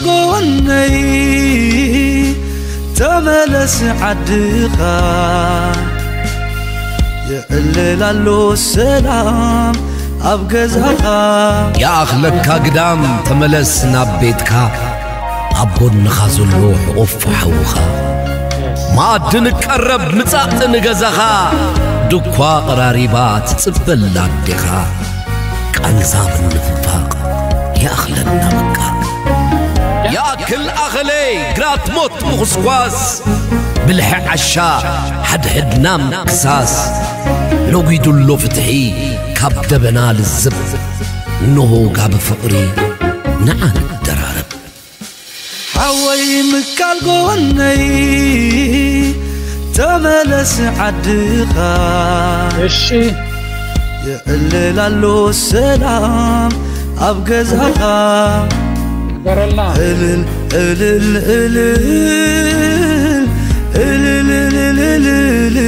ጎነይ ተመለስ ዓድኻ፣ የዕልል ኣሎ ሰላም ኣብ ገዛኻ። ይኣኽለካ ግዳም ተመለስ ናብ ቤትካ፣ ኣብ ጎንኻ ዘሎ ሕቑፍ ሓውኻ። መኣዲ ንቀረብ ምጻእ ንገዛኻ፣ ድኳ ቀራሪባ ትጽበላ ኣዴኻ። ቃንዛ ምንፍፋቕ ይኣኽለና በቃ። ይኣክል ኣኸለይ ግራት ሞት ምኹስኳስ፣ ብልሒ ዓሻ ሓድሕድና ምክሳስ። ነጒዱ ኣሎ ፍትሒ ካብ ደበና ልዝብ፣ እንሆ ጋቢ ፍቕሪ ንዓ ንደራረብ። ሓወይ ምካል ጎነይ ተመለስ ዓድኻ፣ እሺ የዕልል ኣሎ ሰላም ኣብ ገዛኻ። ግበረልና እልል እልል እልል እልል እልል እልል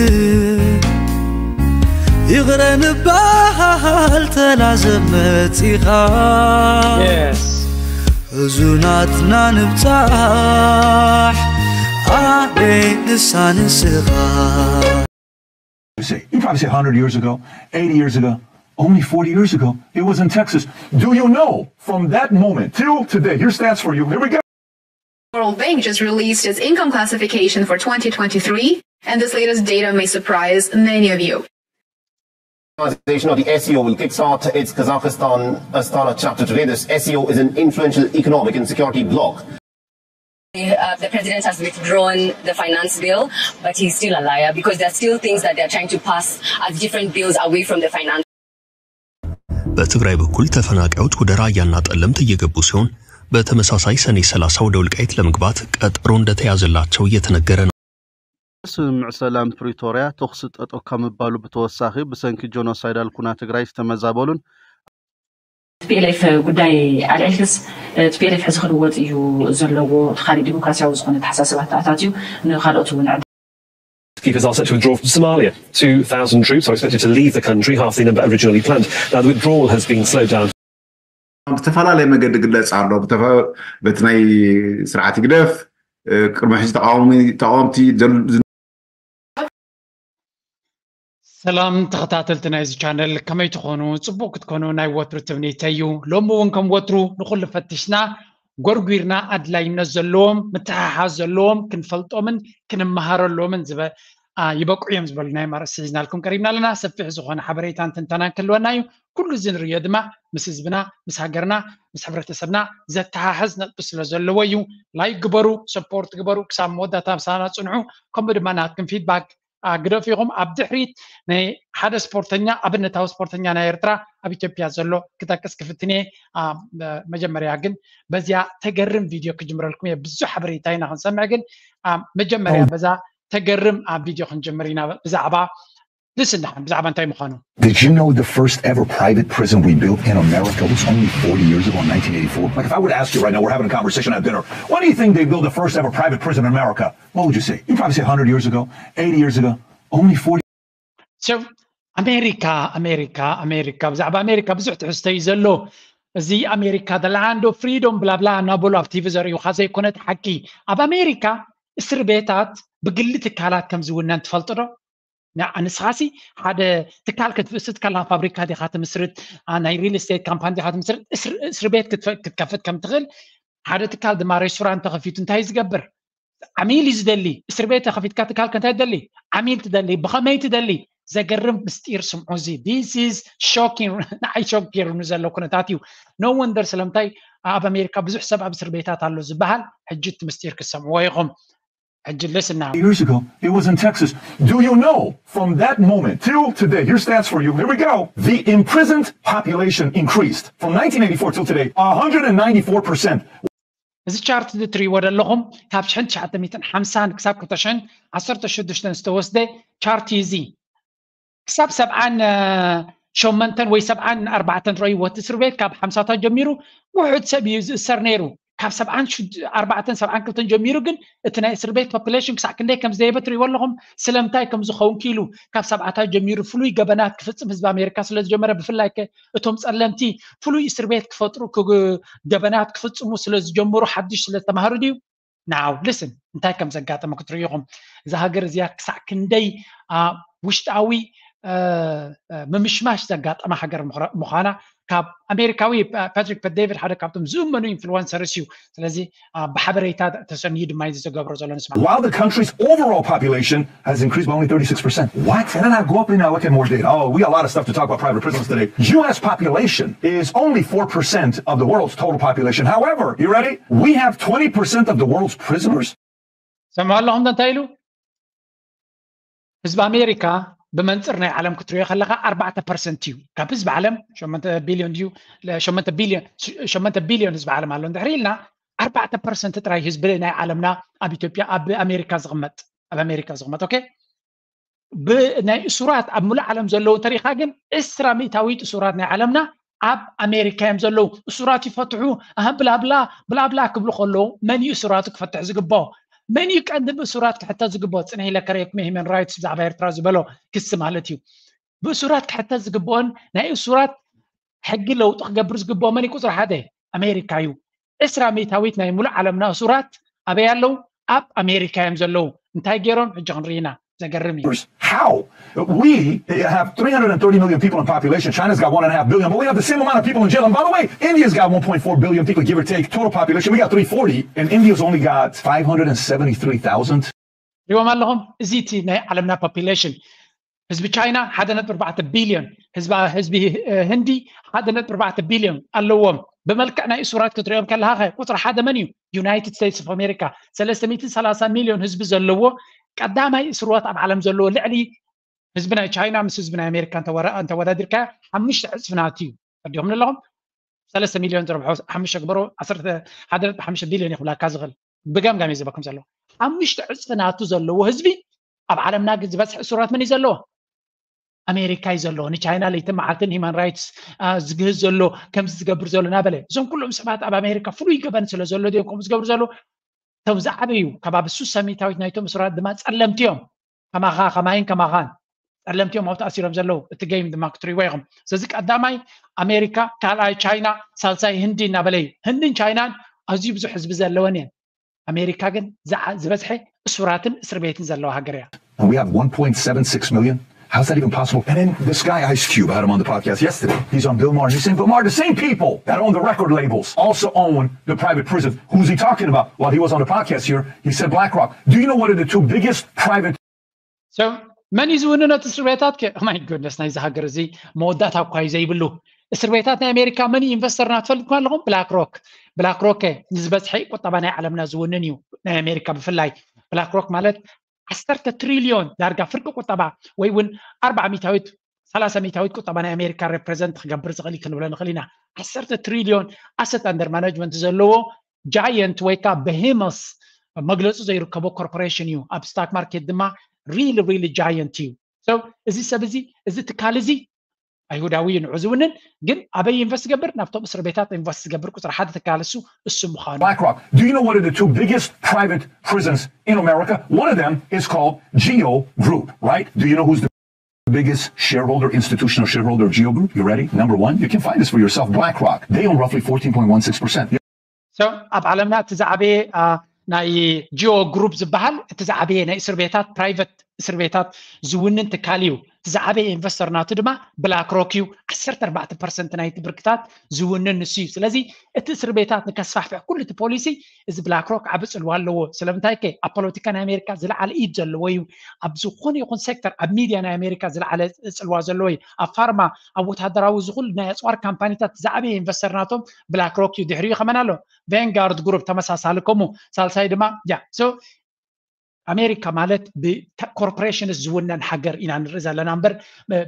ይቕረ ንበሃል ተላዘብ መጺኻ። Yes ሕዙናትና ንብጻሕ ኣደይ ንሳ ንስኻ። You say, you probably say a hundred years ago, eighty years ago, only forty years ago, it was in Texas. Do you know from that moment till today? Here's stats for you. Here we go. World Bank just released its income classification for twenty twenty-three, and this latest data may surprise many of you. Organization of the S C O will kickstart its Kazakhstan Astana chapter today. This S C O is an influential economic and security bloc. Uh, the president has withdrawn the finance bill, but he's still a liar because there are still things that they're trying to pass as different bills away from the finance. በትግራይ በኩል ተፈናቃዮች ወደ ራያና ጠለምት እየገቡ ሲሆን በተመሳሳይ ሰኔ ሠላሳ ወደ ወልቃይት ለመግባት ቀጠሮ እንደተያዘላቸው እየተነገረ ነው። ስምምዕ ሰላም ፕሪቶርያ ተኹሲ ጠጠው ካብ ምባሉ ብተወሳኺ ብሰንኪ ጆኖሳይዳል ኩናት ትግራይ ዝተመዛበሉን ቲፒኤልኤፍ ጉዳይ ኣልዒልክስ ቲፒኤልኤፍ ሕዚ ክልወጥ እዩ ዘለዎ፣ እቲ ካሊእ ዲሞክራሲያዊ ዝኾነ ኣተሓሳስባ ተኣታትዩ ንካልኦት እውን ዕድል Keepers are set to withdraw from Somalia. Two thousand troops are expected to leave the country, half the number originally planned. Now, the withdrawal has been slowed down. ብዝተፈላለየ መገዲ ግለጽ ኣሎ። ብተፈ- በቲ ናይ ስርዓት ይግደፍ ቅድሚ ሕዚ ተቃዋሚ ተቃወምቲ ዘል- ሰላም ተኸታተልቲ ናይዚ ቻነል ከመይ ትኾኑ? ጽቡቕ ክትኮኑ ናይ ወትሩ ትምኒተይ እዩ። ሎሚ እውን ከም ወትሩ ንኹሉ ፈቲሽና ጎርጒርና ኣድላይነት ዘለዎም ምትሕሓዝ ዘለዎም ክንፈልጦምን ክንመሃረሎምን ዝበ አ፣ ይበቅዑ እዮም ዝበሉ ናይ ማርስ ሒዝናልኩም ቀሪብና ኣለና። ሰፊሕ ዝኾነ ሓበሬታን ትንተናን ክህልወና እዩ። ኩሉ እዚ ንርእዮ ድማ ምስ ህዝብና ምስ ሃገርና ምስ ሕብረተሰብና ዘተሓሕዝ ነጥቢ ስለ ዘለዎ እዩ። ላይክ ግበሩ፣ ሰፖርት ግበሩ፣ ክሳብ መወዳእታ ምሳና ጽንሑ። ከምኡ ድማ ናትኩም ፊድባክ ግደፉ ኢኹም። ኣብ ድሕሪት ናይ ሓደ ስፖርተኛ ኣብነታዊ ስፖርተኛ ናይ ኤርትራ ኣብ ኢትዮጵያ ዘሎ ክጠቅስ ክፍትን እየ። መጀመርያ ግን በዚያ ተገርም ቪድዮ ክጅምረልኩም እየ። ብዙሕ ሓበሬታ ኢና ክንሰምዕ ግን መጀመርያ በዛ ተገርም ኣብ ቪድዮ ክንጅምር ኢና ብዛዕባ ልስን ደሓን ብዛዕባ እንታይ ምዃኑ Did you know the first ever private prison we built in America was only forty years ago in nineteen eighty-four? Like, if I were to ask you right now, we're having a conversation at dinner, when do you think they built the first ever private prison in America? What would you say? You'd probably say a hundred years ago, eighty years ago, only forty. So, ኣሜሪካ ኣሜሪካ ኣሜሪካ ብዛዕባ ኣሜሪካ ብዙሕ ትሕዝቶ እዩ ዘሎ። እዚ ኣሜሪካ the land of freedom ብላብላ እናበሉ ኣብ ቲቪ ዘርእዩኻ ዘይኮነ እቲ ሓቂ። ኣብ ኣሜሪካ እስር ቤታት ብግሊ ትካላት ከም ዝውነን ትፈልጡ ዶ? ንስኻሲ ሓደ ትካል ክትፍስት ከላ ፋብሪካ ዲኻ ትምስርት፣ ናይ ሪል ስቴት ካምፓኒ ዲኻ ትምስርት፣ እስር ቤት ክትከፍት ከም ትኽእል ሓደ ትካል ድማ ሬስቶራንት ተኸፊቱ እንታይ ዝገብር? ዓሚል እዩ ዝደሊ። እስር ቤት ተኸፊትካ ትካል ከ እንታይ ትደሊ? ዓሚል ትደሊ። ብኸመይ ትደሊ? ዘገርም ምስጢር ስምዑ። እዚ this is shocking ንዓይ ሾክ ገይሩኒ ዘሎ ኩነታት እዩ። No wonder ስለምንታይ ኣብ ኣሜሪካ ብዙሕ ሰብ ኣብ እስር ቤታት ኣሎ ዝበሃል ሕጂ እቲ ምስጢር ክትሰምዕዎ ኢኹም። ሕጂ listen now. Years ago, it was in Texas. Do you know from that moment till today? Here's stats for you. Here we go. The imprisoned population increased from nineteen eighty-four till today, one hundred ninety-four percent. እዚ ቻርት እዚ ትሪእዎ ዘለኹም ካብ ሽሕን ትሽዓተ ሚእትን ሓምሳን ክሳብ ክልተ ሽሕን ዓሰርተ ሽዱሽተን ዝተወስደ ቻርት እዩ። እዚ ክሳብ ሰብዓን ሸሞንተን ወይ ሰብዓን ኣርባዕተን ረእይዎ እቲ እስር ቤት ካብ ሓምሳታት ጀሚሩ ውሑድ ሰብ እዩ ዝእሰር ነይሩ። ካብ ሰብዓን ኣርባዕተን ሰብዓን ክልተን ጀሚሩ ግን እቲ ናይ እስር ቤት ፖፕሌሽን ክሳዕ ክንደይ ከም ዝደየበ ትሪእዎ ኣለኹም። ስለምንታይ ከም ዝኸውን ክኢሉ ካብ ሰብዓታት ጀሚሩ ፍሉይ ገበናት ክፍፅም ህዝቢ ኣሜሪካ ስለ ዝጀመረ፣ ብፍላይ ከ እቶም ጸለምቲ ፍሉይ እስር ቤት ክፈጥሩ፣ ገበናት ክፍፅሙ ስለ ዝጀመሩ፣ ሓድሽ ስለ ዝተማሃሩ ድዩ? ናው ልስን እንታይ ከም ዘጋጠመ ክትርእዩ ኢኹም። እዛ ሃገር እዚኣ ክሳዕ ክንደይ ውሽጣዊ ምምሽማሽ ዘጋጠመ ሃገር ምዃና ካብ ኣሜሪካዊ ፓትሪክ በት ዴቪድ ሓደ ካብቶም ዝእመኑ ኢንፍሉወንሰርስ እዩ። ስለዚ ብሓበሬታ ተሰንዩ ድማ እዩ ዝገብሮ ዘሎ። ንስማ። While the country's overall population has increased by only thirty-six percent. What? And then I go up and I look at more data. Oh, we got a lot of stuff to talk about private prisons today. U S population is only four percent of the world's total population. However, you ready? We have twenty percent of the world's prisoners. ሰምዑ ኣለኹም እንታይ ኢሉ? ህዝቢ ኣሜሪካ ብመንፅር ናይ ዓለም ክትሪኦ ከለካ ኣርባዕተ ፐርሰንት እዩ ካብ ህዝቢ ዓለም። ሸመንተ ቢልዮን ድዩ? ሸመንተ ቢልዮን ህዝቢ ዓለም ኣሎ እንድሕር ኢልና ኣርባዕተ ፐርሰንት ጥራይ ህዝቢ ናይ ዓለምና ኣብ ኢትዮጵያ ኣብ ኣሜሪካ ዝቕመጥ ኣብ ኣሜሪካ ዝቕመጥ ኦኬ። ብናይ እሱራት ኣብ ሙሉእ ዓለም ዘለዉ እንተሪኢኻ ግን ዕስራ ሚእታዊት እሱራት ናይ ዓለምና ኣብ ኣሜሪካ እዮም ዘለዉ። እሱራት ይፈትሑ ኣህ ብላብላ ብላብላ ክብሉ ከለዉ መን እዩ እሱራቱ ክፈትሕ ዝግብኦ? መን እዩ ቀንዲ ብእሱራት ክሕተት ዝግብኦ? ፅንሕ ኢለ ከርእየኩም ሂመን ራይትስ ብዛዕባ ኤርትራ ዝበሎ ክሲ ማለት እዩ። ብእሱራት ክሕተት ዝግብኦን ናይ እሱራት ሕጊ ለውጢ ክገብር ዝግብኦ መን እዩ? ቁፅሪ ሓደ ኣሜሪካ እዩ። ዕስራ ሚእታዊት ናይ ሙሉእ ዓለምና እሱራት ኣበይ ኣለዉ? ኣብ ኣሜሪካ እዮም ዘለዉ። እንታይ ገይሮም? ሕጂ ክንርኢና። ዘገርም እዩ። How? We have three hundred thirty million people in population. China's got one and a half billion, but we have the same amount of people in jail. And by the way, India's got one point four billion people, give or take, total population. We got three forty, and India's only got five hundred seventy-three thousand. ሪዎም ኣለኹም። እዚ እቲ ናይ ዓለምና ፖፕሌሽን ህዝቢ ቻይና ሓደ ነጥቢ ኣርባዕተ ቢልዮን፣ ህዝቢ ህንዲ ሓደ ነጥቢ ኣርባዕተ ቢልዮን ኣለዎም። ብመልክዕ ናይ እሱራት ክትሪኦም ከለካ ቁፅሪ ሓደ መን እዩ? ዩናይትድ ስቴትስ ኦፍ ኣሜሪካ ሰለስተ ሚእትን ሰላሳን ሚልዮን ህዝቢ ዘለዎ ቀዳማይ እስርዎት ኣብ ዓለም ዘለዎ ልዕሊ ህዝቢ ናይ ቻይና ምስ ህዝቢ ናይ ኣሜሪካ እንተወዳዲርካ ሓሙሽተ ዕፅፊ ናቱ እዩ። ተዲኹም ኣለኹም። ሰለስተ ሚልዮን ዝረብሖ ሓሙሽተ ግበሮ ሓደ ነጥቢ ሓሙሽተ ቢልዮን ይኽብላካ ዝኽእል ብገምጋም እዩ ዝበኩም ዘሎ። ሓሙሽተ ዕፅፊ ናቱ ዘለዎ ህዝቢ ኣብ ዓለምና ግን ዝበዝሐ እሱራት መን እዩ ዘለዎ? ኣሜሪካ እዩ ዘለዎ። ንቻይና ለይትን መዓልትን ሂማን ራይትስ ዝግህዝ ዘሎ ከምዚ ዝገብር ዘሎ ናበለ እዞም ኩሎም ሰባት ኣብ ኣሜሪካ ፍሉይ ገበን ስለ ዘሎ ድዮም ከምኡ ዝገብሩ ዘሎ? እቶም ዝዓበዩ ከባቢ ሱሳ ሚእታዊት ናይቶም እሱራት ድማ ጸለምቲ እዮም። ከማኻ ከማይን ከማኻን ጸለምቲ እዮም ኣብቲ ኣሲሮም ዘለዉ። እቲ ገይም ድማ ክትሪእዎ ኢኹም። ስለዚ ቀዳማይ ኣሜሪካ፣ ካልኣይ ቻይና፣ ሳልሳይ ህንዲ እናበለ እዩ። ህንድን ቻይናን ኣዝዩ ብዙሕ ህዝቢ ዘለወን እየን። ኣሜሪካ ግን ዝበዝሐ እሱራትን እስር ቤትን ዘለዋ ሃገር እያ። And we have one point seven six million. How's that even possible? And then this guy, Ice Cube, I had him on the podcast yesterday. He's on Bill Maher. He's saying, Bill Maher, the same people that own the record labels also own the private prison. Who's he talking about? While he was on the podcast here, he said BlackRock. Do you know what are the two biggest private So መን እዩ ዝውንን እቲ እስር ቤታት? ማይ ጎድነስ ናይዚ ሃገር እዚ መወዳእታ እኳ እዩ ዘይብሉ። እስር ቤታት ናይ ኣሜሪካ መን እዩ ኢንቨስተርና ትፈልጥኩም ኣለኹም? ብላክ ሮክ። ብላክ ሮክ ንዝበዝሐ ቁጠባ ናይ ዓለምና ዝውንን እዩ። ናይ ኣሜሪካ ብፍላይ ብላክ ሮክ ማለት ዓሰርተ ትሪልዮን ዳርጋ ፍርቂ ቁጠባ ወይ እውን ኣርባዓ ሚታዊት ሰላሳ ሚታዊት ቁጠባ ናይ ኣሜሪካ ሬፕሬዘንት ክገብር ዝኽእል እዩ ክንብሎ ንኽእል ኢና። ዓሰርተ ትሪልዮን ኣሰት ኣንደር ማናጅመንት ዘለዎ ጃየንት ወይ ከዓ በሄመስ መግለፂ ዘይርከቦ ኮርፖሬሽን እዩ። ኣብ ስታክ ማርኬት ድማ ሪሊ ሪሊ ጃየንት እዩ። So እዚ ሰብ እዚ እዚ ትካል እዚ ኣይሁዳዊ እዩ ንዑ ዝውንን ግን ኣበይ ኢንቨስት ዝገብር ናብቶም እስር ቤታት ኢንቨስት ዝገብር ቁፅሪ ሓደ ትካል እሱ እሱ ምዃኑ BlackRock. Do you know what are the two biggest private prisons in America? One of them is called Geo Group, right? Do you know who's the biggest shareholder, institutional shareholder of Geo Group? You ready? Number one, you can find this for yourself. BlackRock. They own roughly fourteen point one six percent. So ኣብ ዓለምና እቲ ዝዓበየ ናይ ጂኦ ግሩፕ ዝበሃል እቲ ዝዓበየ ናይ እስር ቤታት ፕራይቨት እስር ቤታት ዝውንን ትካል እዩ። እቲ ዝዓበየ ኢንቨስተር ናቱ ድማ ብላክ ሮክ እዩ። ዓሰርተ ኣርባዕተ ፐርሰንት ናይቲ ብርክታት ዝውንን ንሱ እዩ። ስለዚ እቲ እስር ቤታት ንከስፋሕፍሕ ኩሉ እቲ ፖሊሲ እዚ ብላክ ሮክ ዓቢ ፅልዋ ኣለዎ። ስለምንታይ ከ ኣብ ፖለቲካ ናይ ኣሜሪካ ዝለዓለ ኢድ ዘለዎ እዩ። ኣብ ዝኾነ ይኹን ሴክተር ኣብ ሚድያ ናይ ኣሜሪካ ዝለዓለ ፅልዋ ዘለዎ እዩ። ኣብ ፋርማ ኣብ ወታደራዊ ዝኹሉ ናይ ኣፅዋር ካምፓኒታት ዝዓበየ ኢንቨስተር ናቶም ብላክ ሮክ እዩ። ድሕሪኡ ከመን ኣሎ ቬንጋርድ ግሩፕ ተመሳሳሊ ከምኡ ሳልሳይ ድማ ያ so ኣሜሪካ ማለት ብኮርፖሬሽንስ ዝውነን ሃገር ኢና ንርኢ ዘለና እምበር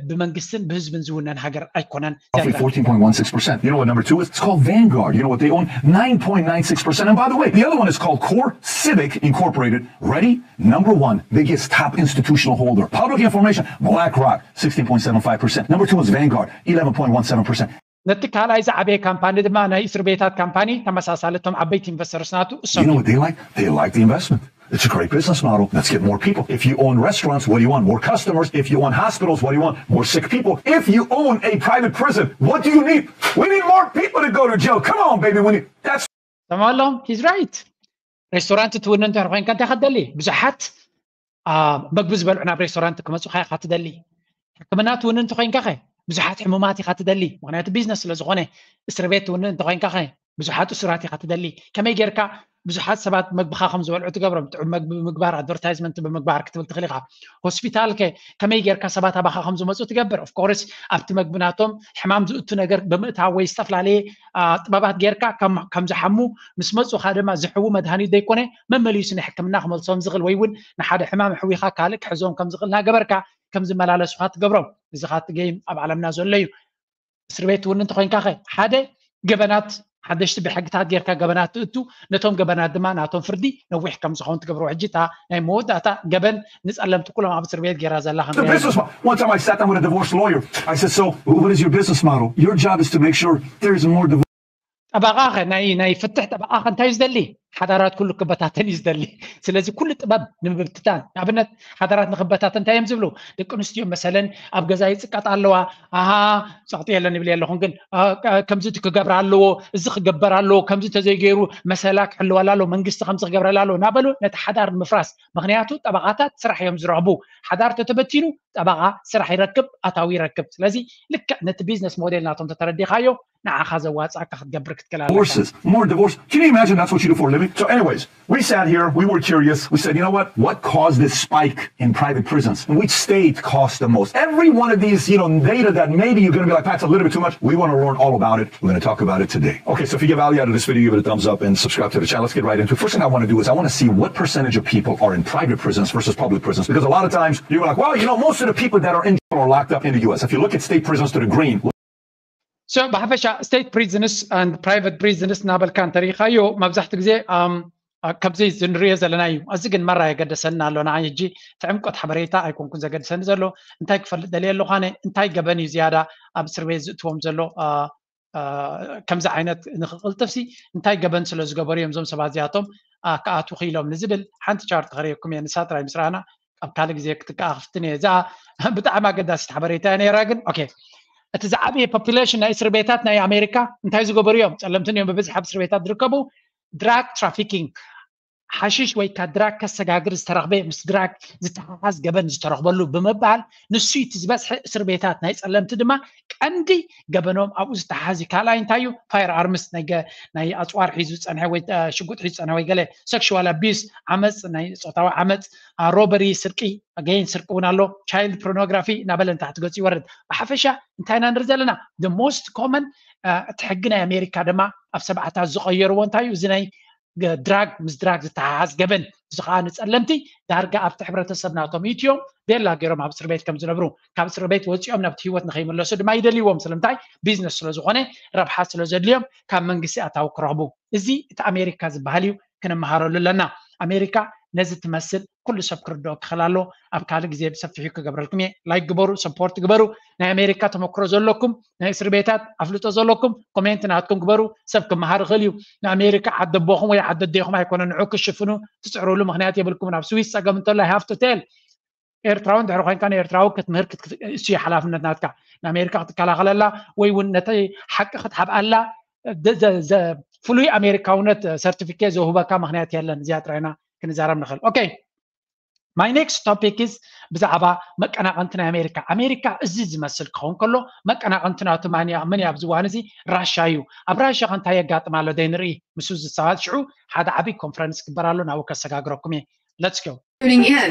ብመንግስትን ብህዝብን ዝውነን ሃገር ኣይኮነን። Roughly fourteen point one six percent. You know what number two is? It's called Vanguard. You know what they own? Nine point nine six percent. And by the way, the other one is called Core Civic Incorporated. Ready? Number one, biggest top institutional holder. Public information, BlackRock, sixteen point seven five percent. Number two is Vanguard, eleven point one seven percent. ነቲ ካልኣይ ዝዓበየ ካምፓኒ ድማ ናይ እስር ቤታት ካምፓኒ ተመሳሳሊ እቶም ዓበይቲ ኢንቨስተርስ ናቱ You know what they like? They like the investment. It's a great business model. Let's get more people. If you own restaurants, what do you want? More customers. If you own hospitals, what do you want? More sick people. If you own a private prison, what do you need? We need more people to go to jail. Come on, baby. We need that's ሰማሎም ሂዝ ራይት። ሬስቶራንት ትውንን እንተ ኮይንካ እንታይ ክትደሊ? ብዙሓት መግቢ ዝበልዑ ናብ ሬስቶራንት ክመፁኻ ኢኻ ትደሊ። ሕክምና ትውንን እንተ ኮይንካ ኸ ብዙሓት ሕሙማት ኢኻ ትደሊ። ምክንያቱ ቢዝነስ ስለ ዝኾነ። እስር ቤት ትውንን እንተ ኮይንካ ኸ ብዙሓት እሱራት ኢኻ ትደሊ። ከመይ ጌርካ ብዙሓት ሰባት መግብኻ ከም ዝበልዑ ትገብሮም? ጥዑም መግቢ ብምግባር፣ ኣድቨርታይዝመንት ብምግባር ክትብል ትኽእል ኢኻ። ሆስፒታል ከ ከመይ ጌርካ ሰባት ኣባኻ ከም ዝመፁ ትገብር? ኦፍኮርስ ኣብቲ መግቢ ናቶም ሕማም ዝእቱ ነገር ብምእታው ወይ ዝተፈላለየ ጥበባት ጌርካ ከም ዝሓሙ ምስ መፁኻ ድማ ዝሕዉ መድሃኒት ዘይኮነ መመሊሱ ንሕክምና ክመልሶም ዝኽእል ወይ እውን ንሓደ ሕማም ሕዊኻ ካልእ ክሕዞም ከም ዝኽእል እናገበርካ ከም ዝመላለሱኻ ትገብሮም። እዚ ኻቲ ገይም ኣብ ዓለምና ዘሎ እዩ። እስር ቤት እውን እንተኮይንካ ኸ ሓደ ገበናት ሓደሽቲ ብሕግታት ጌርካ ገበናት ትእቱ፣ ነቶም ገበናት ድማ ናቶም ፍርዲ ነዊሕ ከም ዝኸውን ትገብሮ። ሕጂ እታ ናይ መወዳእታ ገበን ንጸለምቲ ኩሎም ኣብ እስር ቤት ጌራ ዘላ The business model. One time I sat down with a divorce lawyer. I said, "So, what is your business model?" Your job is to make sure there's more divorce. ጠበቓ ኸ ናይ ናይ ፍትሕ ጠበቓ ኸ እንታይ እዩ ዝደሊ? ሓዳራት ኩሉ ክበታተን እዩ ዝደሊ። ስለዚ ኩሉ ጥበብ ንምብትታን፣ ንኣብነት ሓዳራት ንክበታተን እንታይ እዮም ዝብሉ? ደቂ ኣንስትዮ መሰለን ኣብ ገዛ ይፅቀጣ ኣለዋ። ኣሃ፣ ፀቕጢ የለን ይብል የለኹን ግን ከምዚ ክገብር ኣለዎ፣ እዚ ክገበር ኣለዎ፣ ከምዚ ተዘይገይሩ መሰላ ክሕልወላ ኣለዎ፣ መንግስቲ ከምዚ ክገብረላ ኣለዎ እናበሉ ነቲ ሓዳር ንምፍራስ። ምክንያቱ ጠበቓታት ስራሕ እዮም ዝረኽቡ። ሓዳር ተተበቲኑ ጠበቓ ስራሕ ይረክብ፣ ኣታዊ ይረክብ። ስለዚ ልክዕ ነቲ ቢዝነስ ሞዴል ናቶም ተተረዲኻዮ ንዓኻ ዘዋፅኣካ ክትገብር ክትክእል ኣለካ። Divorces, more divorce. Can you imagine that's what you do for a living? So, anyways, we sat here, we were curious. We said, "You know what? What caused this spike in private prisons? Which state cost the most?" Every one of these, you know, data that maybe you're going to be like, "That's a little bit too much." We want to learn all about it. We're going to talk about it today. Okay, so if you get value out of this video, give it a thumbs up and subscribe to the channel. Let's get right into it. First thing I want to do is I want to see what percentage of people are in private prisons versus public prisons. Because a lot of times you're like, "Well, you know, most of the people that are in jail are locked up in the U S." If you look at state prisons to the green, So ብሓፈሻ state prisons and private prisons እናበልካ እንተሪኢኻዮ መብዛሕትኡ ግዜ ከምዚ ዝንሪኦ ዘለና እዩ። እዚ ግን መራ የገደሰና ኣሎ። ንዓይ ሕጂ እቲ ዕምቆት ሓበሬታ ኣይኮንኩን ዘገድሰኒ ዘሎ። እንታይ ክፈልጥ ደልየ ኣለኹ ኣነ? እንታይ ገበን እዩ ዝያዳ ኣብ እስር ቤት ዝእትዎም ዘሎ? ከምዚ ዓይነት ንክቕልጥፍሲ እንታይ ገበን ስለ ዝገበሩ እዮም እዞም ሰባት እዚኣቶም ክኣትዉ ክኢሎም ንዝብል ሓንቲ ቻርት ከርእየኩም እየ። ንሳ ጥራይ ምስ ረኣና ኣብ ካልእ ግዜ ክትከኣ ክፍትን እየ። እዛ ብጣዕሚ ኣገዳሲት ሓበሬታ እያ ነይራ። ግን ኦኬ፣ እቲ ዝዓበየ ፖፑሌሽን ናይ እስር ቤታት ናይ ኣሜሪካ እንታይ ዝገበሩ እዮም? ጸለምትን እዮም ብብዝሒ ኣብ እስር ቤታት ዝርከቡ። ድራግ ትራፊኪንግ፣ ሓሽሽ ወይ ካ ድራግ ከሰጋግር ዝተረኽበ ምስ ድራግ ዝተሓሓዝ ገበን ዝተረኽበሉ ብምባል ንሱ እቲ ዝበዝሐ እስር ቤታት ናይ ጸለምቲ ድማ ቀንዲ ገበኖም ኣብኡ ዝተሓሓዝ እዩ። ካልኣይ እንታይ እዩ? ፋየር ኣርምስ ናይ ኣፅዋር ሒዙ ዝፀንሐ ወይ ሽጉጥ ሒዙ ዝፀንሐ ወይ ገለ ሴክሹዋል ኣቢዩስ ዓመፅ፣ ናይ ፆታዊ ዓመፅ፣ ሮበሪ፣ ስርቂ፣ ገይን ስርቂ እውን ኣሎ፣ ቻይልድ ፖርኖግራፊ እናበለ ንታሕቲ ገፁ ይወርድ። ብሓፈሻ እንታይ ኢና ንርኢ ዘለና? The most common እቲ ሕጊ ናይ ኣሜሪካ ድማ ኣብ ሰብዓታት ዝቐየርዎ እንታይ እዩ? እዚ ናይ ድራግ ምስ ድራግ ዝተሓሓዝ ገበን፣ እዚ ከዓ ንፀለምቲ ዳርጋ ኣብቲ ሕብረተሰብ ናቶም ኢትዮም ቤላ ገይሮም ኣብ እስር ቤት ከም ዝነብሩ፣ ካብ እስር ቤት ወፂኦም ናብቲ ህይወት ንኸይምለሱ ድማ ይደልይዎም። ስለምንታይ? ቢዝነስ ስለ ዝኾነ፣ ረብሓ ስለ ዘድልዮም ካብ መንግስቲ ኣታዊ ክረኽቡ። እዚ እቲ ኣሜሪካ ዝበሃል እዩ፣ ክንመሃረሉ ኣለና። ኣሜሪካ ነዚ ትመስል ኩሉ ሰብ ክርድኦ ክኽእል ኣሎ። ኣብ ካልእ ግዜ ብሰፊሑ ክገብረልኩም እየ። ላይክ ግበሩ፣ ሰፖርት ግበሩ። ናይ ኣሜሪካ ተመክሮ ዘለኩም፣ ናይ እስር ቤታት ኣፍልጦ ዘለኩም ኮሜንት ናትኩም ግበሩ። ሰብ ክመሃር ይኽእል እዩ። ንኣሜሪካ ዓዲ ኣቦኹም ወይ ዓዲ ኣዴኹም ኣይኮነ ንዑ ክሽፍኑ ትፅዕሩሉ ምክንያት የብልኩም። ናብ ስዊስ ፀገም እንተሎ ሃፍቱ ቴል ኤርትራዊ እንድሕር ኮይንካ ንኤርትራዊ ክትምህር እሱ ሓላፍነት ናትካ። ንኣሜሪካ ክትከላኸለላ ወይ እውን ነቲ ሓቂ ክትሓብኣላ ፍሉይ ኣሜሪካውነት ሰርቲፊኬት ዘውህበካ ምክንያት የለን። እዚኣ ጥራይና ክንዛረብ ንኽእል። ኦኬ፣ my next topic is ብዛዕባ መቀናቐንቲ ናይ ኣሜሪካ። ኣሜሪካ እዚ ዝመስል ክኸውን ከሎ መቀናቐንቲ ናቱ ማን እያ? መን እያ? ኣብዚ እዋን እዚ ራሻ እዩ። ኣብ ራሻ ከ እንታይ የጋጥም ኣሎ ደይ ንርኢ? ምስ ዝሰባት ሽዑ ሓደ ዓብዪ ኮንፈረንስ ክግበር ኣሎ፣ ናብኡ ከሰጋግረኩም እየ። Let's go. Tuning in.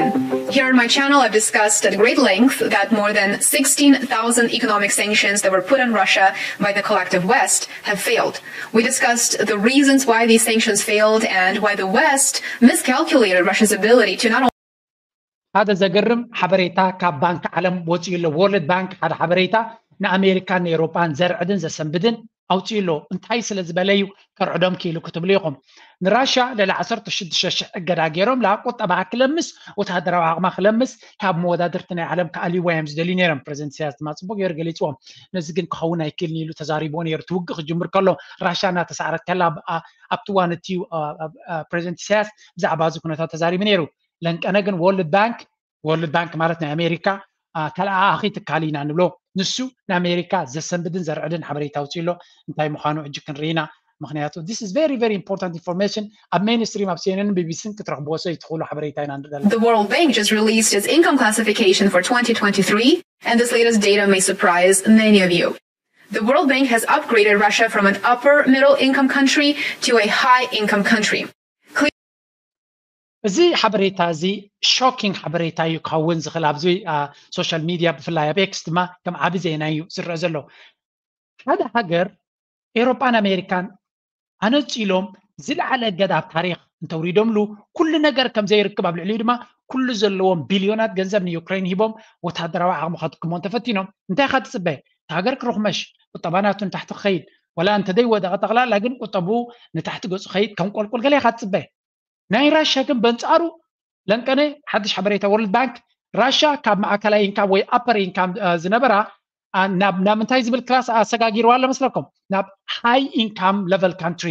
Here on my channel, I've discussed at great length that more than sixteen thousand economic sanctions that were put on Russia by the collective West have failed. We discussed the reasons why these sanctions failed and why the West miscalculated Russia's ability to not only ሓደ ዘገርም ሓበሬታ ካብ ባንክ ዓለም ወፂኡ ኣሎ። ወርልድ ባንክ ሓደ ሓበሬታ ንኣሜሪካን ንኤውሮጳን ዘርዕድን ዘሰንብድን ኣውፅኡ ኣሎ። እንታይ ስለ ዝበለ እዩ ከርዕዶም ክኢሉ ክትብሉ ኢኹም? ንራሽያ ልዕሊ ዓሰርተ ሽዱሽተ ሽሕ እገዳ ገይሮም፣ ላ ቁጠባ ክለምስ፣ ወታደራዊ ዓቕማ ክለምስ፣ ካብ መወዳድርቲ ናይ ዓለም ክኣልይዋ እዮም ዝደልዩ ነይሮም። ፕሬዚደንት ኢሳያስ ድማ ፅቡቅ ገይሩ ገሊፅዎም። ነዚ ግን ክኸውን ኣይክእልን ኢሉ ተዛሪብዎ ነይሩ። እቲ ውግእ ክጅምር ከሎ ራሽያ እናተሳዕረት ከላ፣ ኣብቲ ዋን እቲ ፕሬዚደንት ኢሳያስ ብዛዕባ እዚ ኩነታት ተዛሪቡ ነይሩ። ለንቀነ ግን ወርልድ ባንክ፣ ወርልድ ባንክ ማለት ናይ ኣሜሪካ ተለኣኣኺ ትካል ኢና ንብሎ፣ ንሱ ንኣሜሪካ ዘሰንብድን ዘርዕድን ሓበሬታ ኣውፅኡ ኣሎ። እንታይ ምዃኑ ሕጂ ክንርኢ ኢና። ምክንያቱ this is very very important information። ኣብ ሜይንስትሪም ኣብ ሲኤንኤንን ቢቢሲን ክትረኽብዎ ሰ ይትኽእሉ ሓበሬታ ኢና ንደሊ። The World Bank just released its income classification for twenty twenty-three, and this latest data may surprise many of you. The World Bank has upgraded Russia from an upper middle income country to a high income country. እዚ ሓበሬታ እዚ ሾኪንግ ሓበሬታ እዩ ክኸውን ዝኽእል። ኣብዚ ሶሻል ሚድያ ብፍላይ ኣብ ኤክስ ድማ ከም ዓቢ ዜና እዩ ዝረአ ዘሎ። ሓደ ሃገር ኤውሮጳን ኣሜሪካን ኣነጺሎም ዝለዓለ እገዳ ኣብ ታሪኽ እንተውሪዶምሉ፣ ኩሉ ነገር ከም ዘይርክብ፣ ኣብ ልዕሊኡ ድማ ኩሉ ዘለዎም ቢልዮናት ገንዘብ ንዩክሬን ሂቦም ወታደራዊ ዓቕሚ ከድክሞ እንተፈቲኖም፣ እንታይ ኢኻ ትጽበ? እቲ ሃገር ክርኽመሽ፣ ቁጠባ ናቱ ንታሕቲ ክኸይድ፣ ወላ እንተደይወደቐ ጠቕላላ ግን ቁጠብኡ ንታሕቲ ገጹ ኸይድ፣ ከም ቆልቁል ገለ ኢኻ ትጽበ። ናይ ራሽያ ግን በንጻሩ ለንቀነ ሓድሽ ሓበሬታ ወርልድ ባንክ፣ ራሽያ ካብ ማእከላይ ኢንካም ወይ ኣፐር ኢንካም ዝነበራ ናብ ምንታይ ዝብል ክላስ ኣሰጋጊርዋ ኣሎ መስለኩም? ናብ ሃይ ኢንካም ለቨል ካንትሪ፣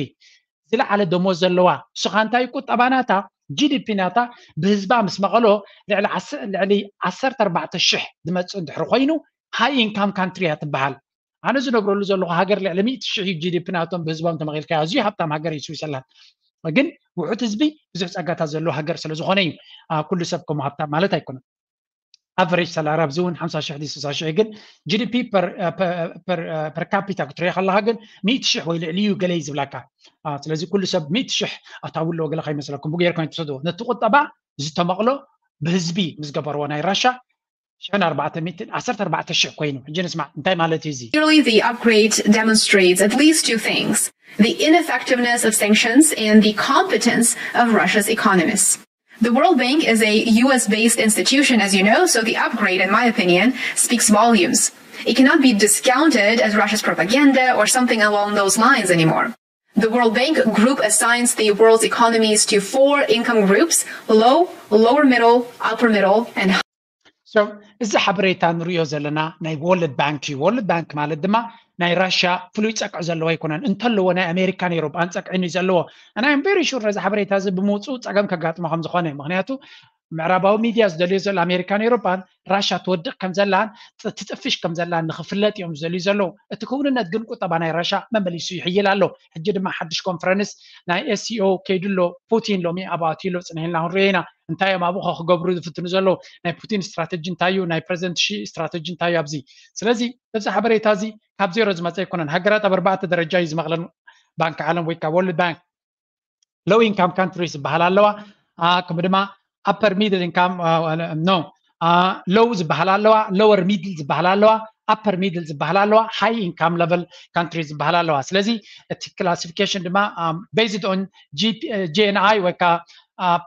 ዝለዓለ ደሞዝ ዘለዋ። ንሱ ኸኣ እንታይ ቁጠባ ናታ፣ ጂዲፒ ናታ ብህዝባ ምስ መቐሎ ልዕሊ ዓሰርተ ኣርባዕተ ሽሕ ዝመጽእ እንድሕሪ ኮይኑ ሃይ ኢንካም ካንትሪ እያ ትበሃል። ኣነ ዝነብረሉ ዘለኹ ሃገር ልዕሊ ሚእቲ ሽሕ እዩ ጂዲፒ ናቶም ብህዝቦም ተመቒልካ፣ ኣዝዩ ሃብታም ሃገር እዩ ስዊዘርላንድ። ግን ውሑድ ህዝቢ ብዙሕ ጸጋታት ዘለዎ ሃገር ስለ ዝኾነ እዩ ኩሉ ሰብ ከምኡ ሃብታም ማለት ኣይኮነን። ኣቨሬጅ ሰላሪ ኣብዚ እውን ሓምሳ ሽሕ ድዩ ስሳ ሽሕ፣ ግን ጂዲፒ ፐር ካፒታ ክትሪኦ ከለኻ ግን ሚእቲ ሽሕ ወይ ልዕሊ እዩ ገለ እዩ ዝብላካ። ስለዚ ኩሉ ሰብ ሚእቲ ሽሕ ኣታዊ ኣለዎ ገለ ከይመስለኩም። ብጌርኩም ኣይትውሰድዎ። ነቲ ቁጠባ ዝተመቕሎ ብህዝቢ ምስ ገበርዎ ናይ ራሻ ሽሕን ኣርባዕተ ሚእትን ዓሰርተ ኣርባዕተ ሽሕ ኮይኑ። ሕጂ ንስማዕ እንታይ ማለት እዩ እዚ? Clearly, the upgrade demonstrates at least two things: the ineffectiveness of sanctions and the competence of Russia's economists. The World Bank is a U S based institution, as you know, so the upgrade, in my opinion, speaks volumes. It cannot be discounted as Russia's propaganda or something along those lines anymore. The World Bank group assigns the world's economies to four income groups: low, lower middle, upper middle, and high. So እዚ ሓበሬታ ንሪኦ ዘለና ናይ ወርልድ ባንክ እዩ። ወርልድ ባንክ ማለት ድማ ናይ ራሽያ ፍሉይ ጸቅዒ ዘለዎ ኣይኮነን። እንተለዎ ናይ ኣሜሪካን ኤውሮጳን ጸቅዒ እዩ ዘለዎ። And I'm very sure ነዚ ሓበሬታ እዚ ብምውፅኡ ጸገም ከጋጥሞ ከም ዝኾነ፣ ምክንያቱ ምዕራባዊ ሚድያ ዝደልዮ ዘሎ ኣሜሪካን ኤውሮጳን ራሻ ትወድቕ ከም ዘላን ትጥፍሽ ከም ዘላን ንክፍለጥ እዮም ዝደልዩ ዘለዉ። እቲ ክውንነት ግን ቁጠባ ናይ ራሻ መመሊሱ ይሕይል ኣሎ። ሕጂ ድማ ሓድሽ ኮንፈረንስ ናይ ኤስሲኦ ከይዱ ኣሎ። ፑቲን ሎሚ ኣብኡ ኣትዩ ኣሎ፣ ጽንሕ ኢልና ክንሪኦ ኢና። እንታይ እዮም ኣብኡ ክገብሩ ዝፍትኑ ዘለዉ? ናይ ፑቲን ስትራተጂ እንታይ እዩ? ናይ ፕሬዚደንት ሺ ስትራተጂ እንታይ እዩ ኣብዚ? ስለዚ እዚ ሓበሬታ እዚ ካብ ዜሮ ዝመፀ ኣይኮነን። ሃገራት ኣብ ኣርባዕተ ደረጃ እዩ ዝመቕለን ባንክ ዓለም ወይ ከዓ ወርልድ ባንክ። ሎው ኢንካም ካንትሪስ ዝበሃል ኣለዋ። ከምኡ ድማ ኣፐር ሚድል ኢንካም፣ ኖ፣ ሎው ዝበሃል ኣለዋ፣ ሎወር ሚድል ዝበሃል ኣለዋ፣ ኣፐር ሚድል ዝበሃል ኣለዋ፣ ሃይ ኢንካም ለቨል ካንትሪ ዝበሃል ኣለዋ። ስለዚ እቲ ክላሲፊኬሽን ድማ based on ጂ ኤን ኣይ ወይ ከዓ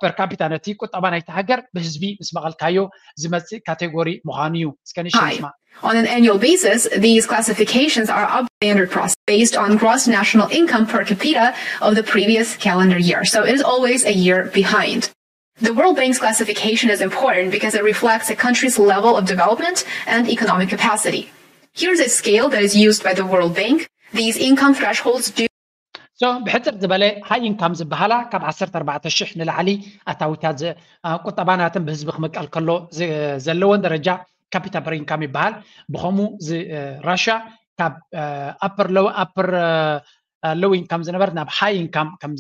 ፐር ካፒታ፣ ነቲ ቁጠባ ናይቲ ሃገር ብህዝቢ ምስ መቐልካዮ ዝመፅእ ካቴጎሪ ምዃኑ እዩ። እስከ ንሽም Hi. ንስማ። On an annual basis, these classifications are updated process based on gross national income per capita of the previous calendar year. So it is always a year behind. The World Bank's classification is important because it reflects a country's level of development and economic capacity. Here's a scale that is used by the World Bank. These income thresholds do So ብሕፅር ዝበለ ሃይ ኢንካም ዝበሃላ ካብ ዓሰርተ ኣርባዕተ ሽሕ ንላዕሊ ኣታዊታት ዝ- አ፣ ቁጠባ ናተን ብህዝቢ ክምቀል ከሎ ዝ- ዘለወን ደረጃ ካፒታ ፐር ኢንካም ይበሃል። ብኸምኡ ዝ- እ፣ ራሽያ ካብ ኣፐር ሎው ኣፐር ሎው ኢንካም ዝነበረት ናብ ሃይ ኢንካም ከም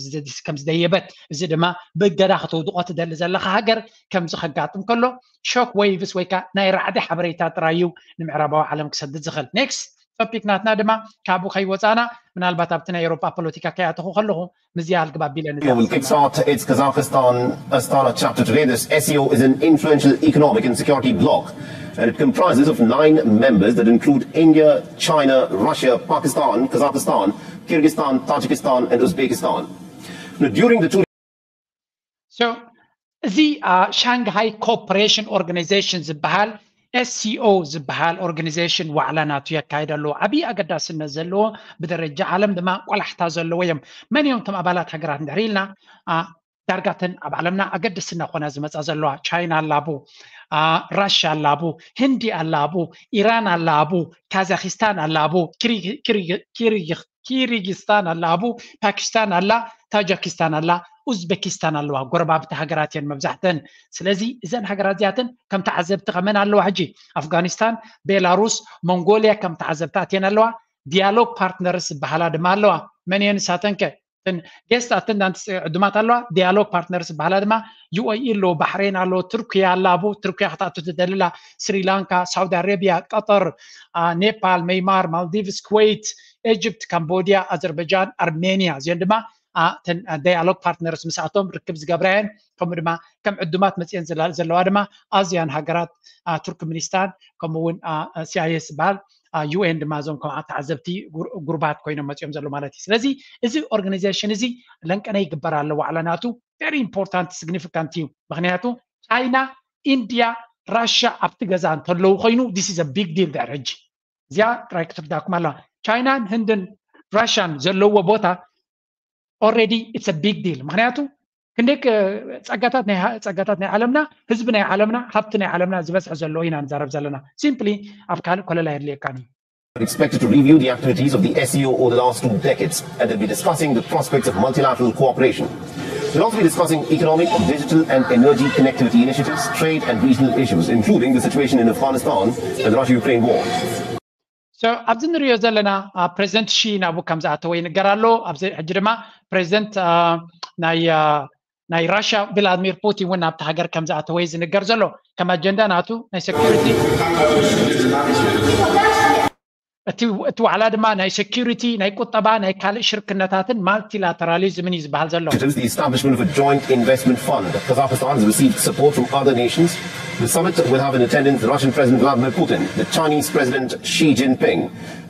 ዝደየበት፣ እዚ ድማ ብእገዳ ከተውድቆ ትደሊ ዘለካ ሃገር ከምዚ ከጋጥም ከሎ ሾክ ዌይቭስ ወይ ከዓ ናይ ራዕዲ ሓበሬታ ጥራይ እዩ ንምዕራባዊ ዓለም ክሰድድ ዝኽእል። ኔክስት ቶፒክ ናትና ድማ ካብኡ ከይወፃና ምናልባት ኣብቲ ናይ ኤውሮፓ ፖለቲካ ከይኣተኹ ከለኹ ምዝያ ኣልግብ ኣቢለ ንዛረብ Will kickstart its Kazakhstan Astana chapter today. This S C O is an influential economic and security bloc, and it comprises of nine members that include India, China, Russia, Pakistan, Kazakhstan, Kyrgyzstan, Tajikistan, and Uzbekistan. Now, during the two So እዚ ሻንግሃይ ኮኦፐሬሽን ኦርጋናይዜሽን ዝበሃል SCO ዝበሃል ኦርጋኒዜሽን ዋዕላ ናቱ የካይድ ኣለዎ። ዓብዪ ኣገዳስነት ዘለዎ፣ ብደረጃ ዓለም ድማ ቆላሕታ ዘለዎ እዮም። መን እዮም እቶም ኣባላት ሃገራት እንድሕር ኢልና፣ ዳርጋተን ኣብ ዓለምና ኣገደስቲ እናኾና ዝመፃ ዘለዋ፣ ቻይና ኣላቡ፣ ራሽያ ኣላቡ፣ ህንዲ ኣላቡ፣ ኢራን ኣላቡ፣ ካዛኪስታን ኣላቡ፣ ኪሪጊስታን ኣላቡ፣ ፓኪስታን ኣላ፣ ታጃኪስታን ኣላ፣ ኡዝቤኪስታን ኣለዋ። ጎረባብቲ ሃገራት እየን መብዛሕተን። ስለዚ እዘን ሃገራት እዚኣተን ከም ተዓዘብቲ ከመን ኣለዋ። ሕጂ ኣፍጋኒስታን፣ ቤላሩስ፣ ሞንጎሊያ ከም ተዓዘብቲ ኣትየን ኣለዋ። ዲያሎግ ፓርትነርስ ዝበሃላ ድማ ኣለዋ። መን እየን ንሳተንከ? ጌስት ኣተንዳንት ዕዱማት ኣለዋ። ዲያሎግ ፓርትነርስ ዝበሃላ ድማ ዩ ኤ ኢ ኣሎ፣ ባሕሬን ኣሎ፣ ቱርኪያ ኣላ፣ ቡ ቱርኪያ ክትኣቱ ትደልላ፣ ስሪላንካ፣ ሳውዲ ኣረቢያ፣ ቀጠር፣ ኔፓል፣ መይማር፣ ማልዲቭስ፣ ኩዌት፣ ኤጅፕት፣ ካምቦዲያ፣ ኣዘርበጃን ኣርሜኒያ። እዚኦን ድማ ዳያሎግ ፓርትነርስ ምስኣቶም ርክብ ዝገብራ እየን። ከምኡ ድማ ከም ዕዱማት መፅአን ዘለዋ ድማ ኣዚያን ሃገራት፣ ቱርክሚኒስታን፣ ከምኡ እውን ሲኣይኤስ ዝበሃል፣ ዩኤን ድማ እዞም ከም ተዓዘብቲ ጉሩባት ኮይኖም መፅኦም ዘሎ ማለት እዩ። ስለዚ እዚ ኦርጋናይዜሽን እዚ ለንቀነ ይግበር ኣሎ ዋዕላ ናቱ። ቨሪ ኢምፖርታንት፣ ሲግኒፊካንት እዩ። ምክንያቱ ቻይና፣ ኢንድያ፣ ራሽያ ኣብቲ ገዛ እንተለዉ ኮይኑ this is a big deal። ድሕሪ ሕጂ እዚኣ ጥራይ ክትርዳኩም ኣለዋ። ቻይናን ህንድን ራሽያን ዘለዎ ቦታ already it's a big deal። ምክንያቱ ክንደይ ጸጋታት ናይ ዓለምና፣ ህዝቢ ናይ ዓለምና፣ ሃብቲ ናይ ዓለምና ዝበዝሐ ዘለዎ ኢና ንዛረብ ዘለና። ሲምፕሊ ኣብ ካልእ ኮለል ኣየድልየካን እዩ። Expected to review the activities of the SCO over the last two decades, and they'll be discussing the prospects of multilateral cooperation. They'll also be discussing economic, digital, and energy connectivity initiatives, trade, and regional issues, including the situation in Afghanistan and the Russia-Ukraine war. So ኣብዚ ንሪኦ ዘለና ፕሬዚደንት ሺ ናብኡ ከም ዝኣተወ ይንገር ኣሎ። ኣብዚ ሕጂ ድማ ፕሬዚደንት ናይ ናይ ራሽያ ቭላድሚር ፑቲን እውን ናብቲ ሃገር ከም ዝኣተወ ዝንገር ዘሎ። ከም ኣጀንዳ ናቱ ናይ ሴኩሪቲ፣ እቲ ዋዕላ ድማ ናይ ሴኩሪቲ፣ ናይ ቁጠባ፣ ናይ ካልእ ሽርክነታትን ማልቲላተራሊዝምን እዩ ዝበሃል ዘሎ። The establishment of a joint investment fund. Kazakhstan has received support from other nations. The summit will have in attendance the Russian President Vladimir Putin, the Chinese President Xi Jinping,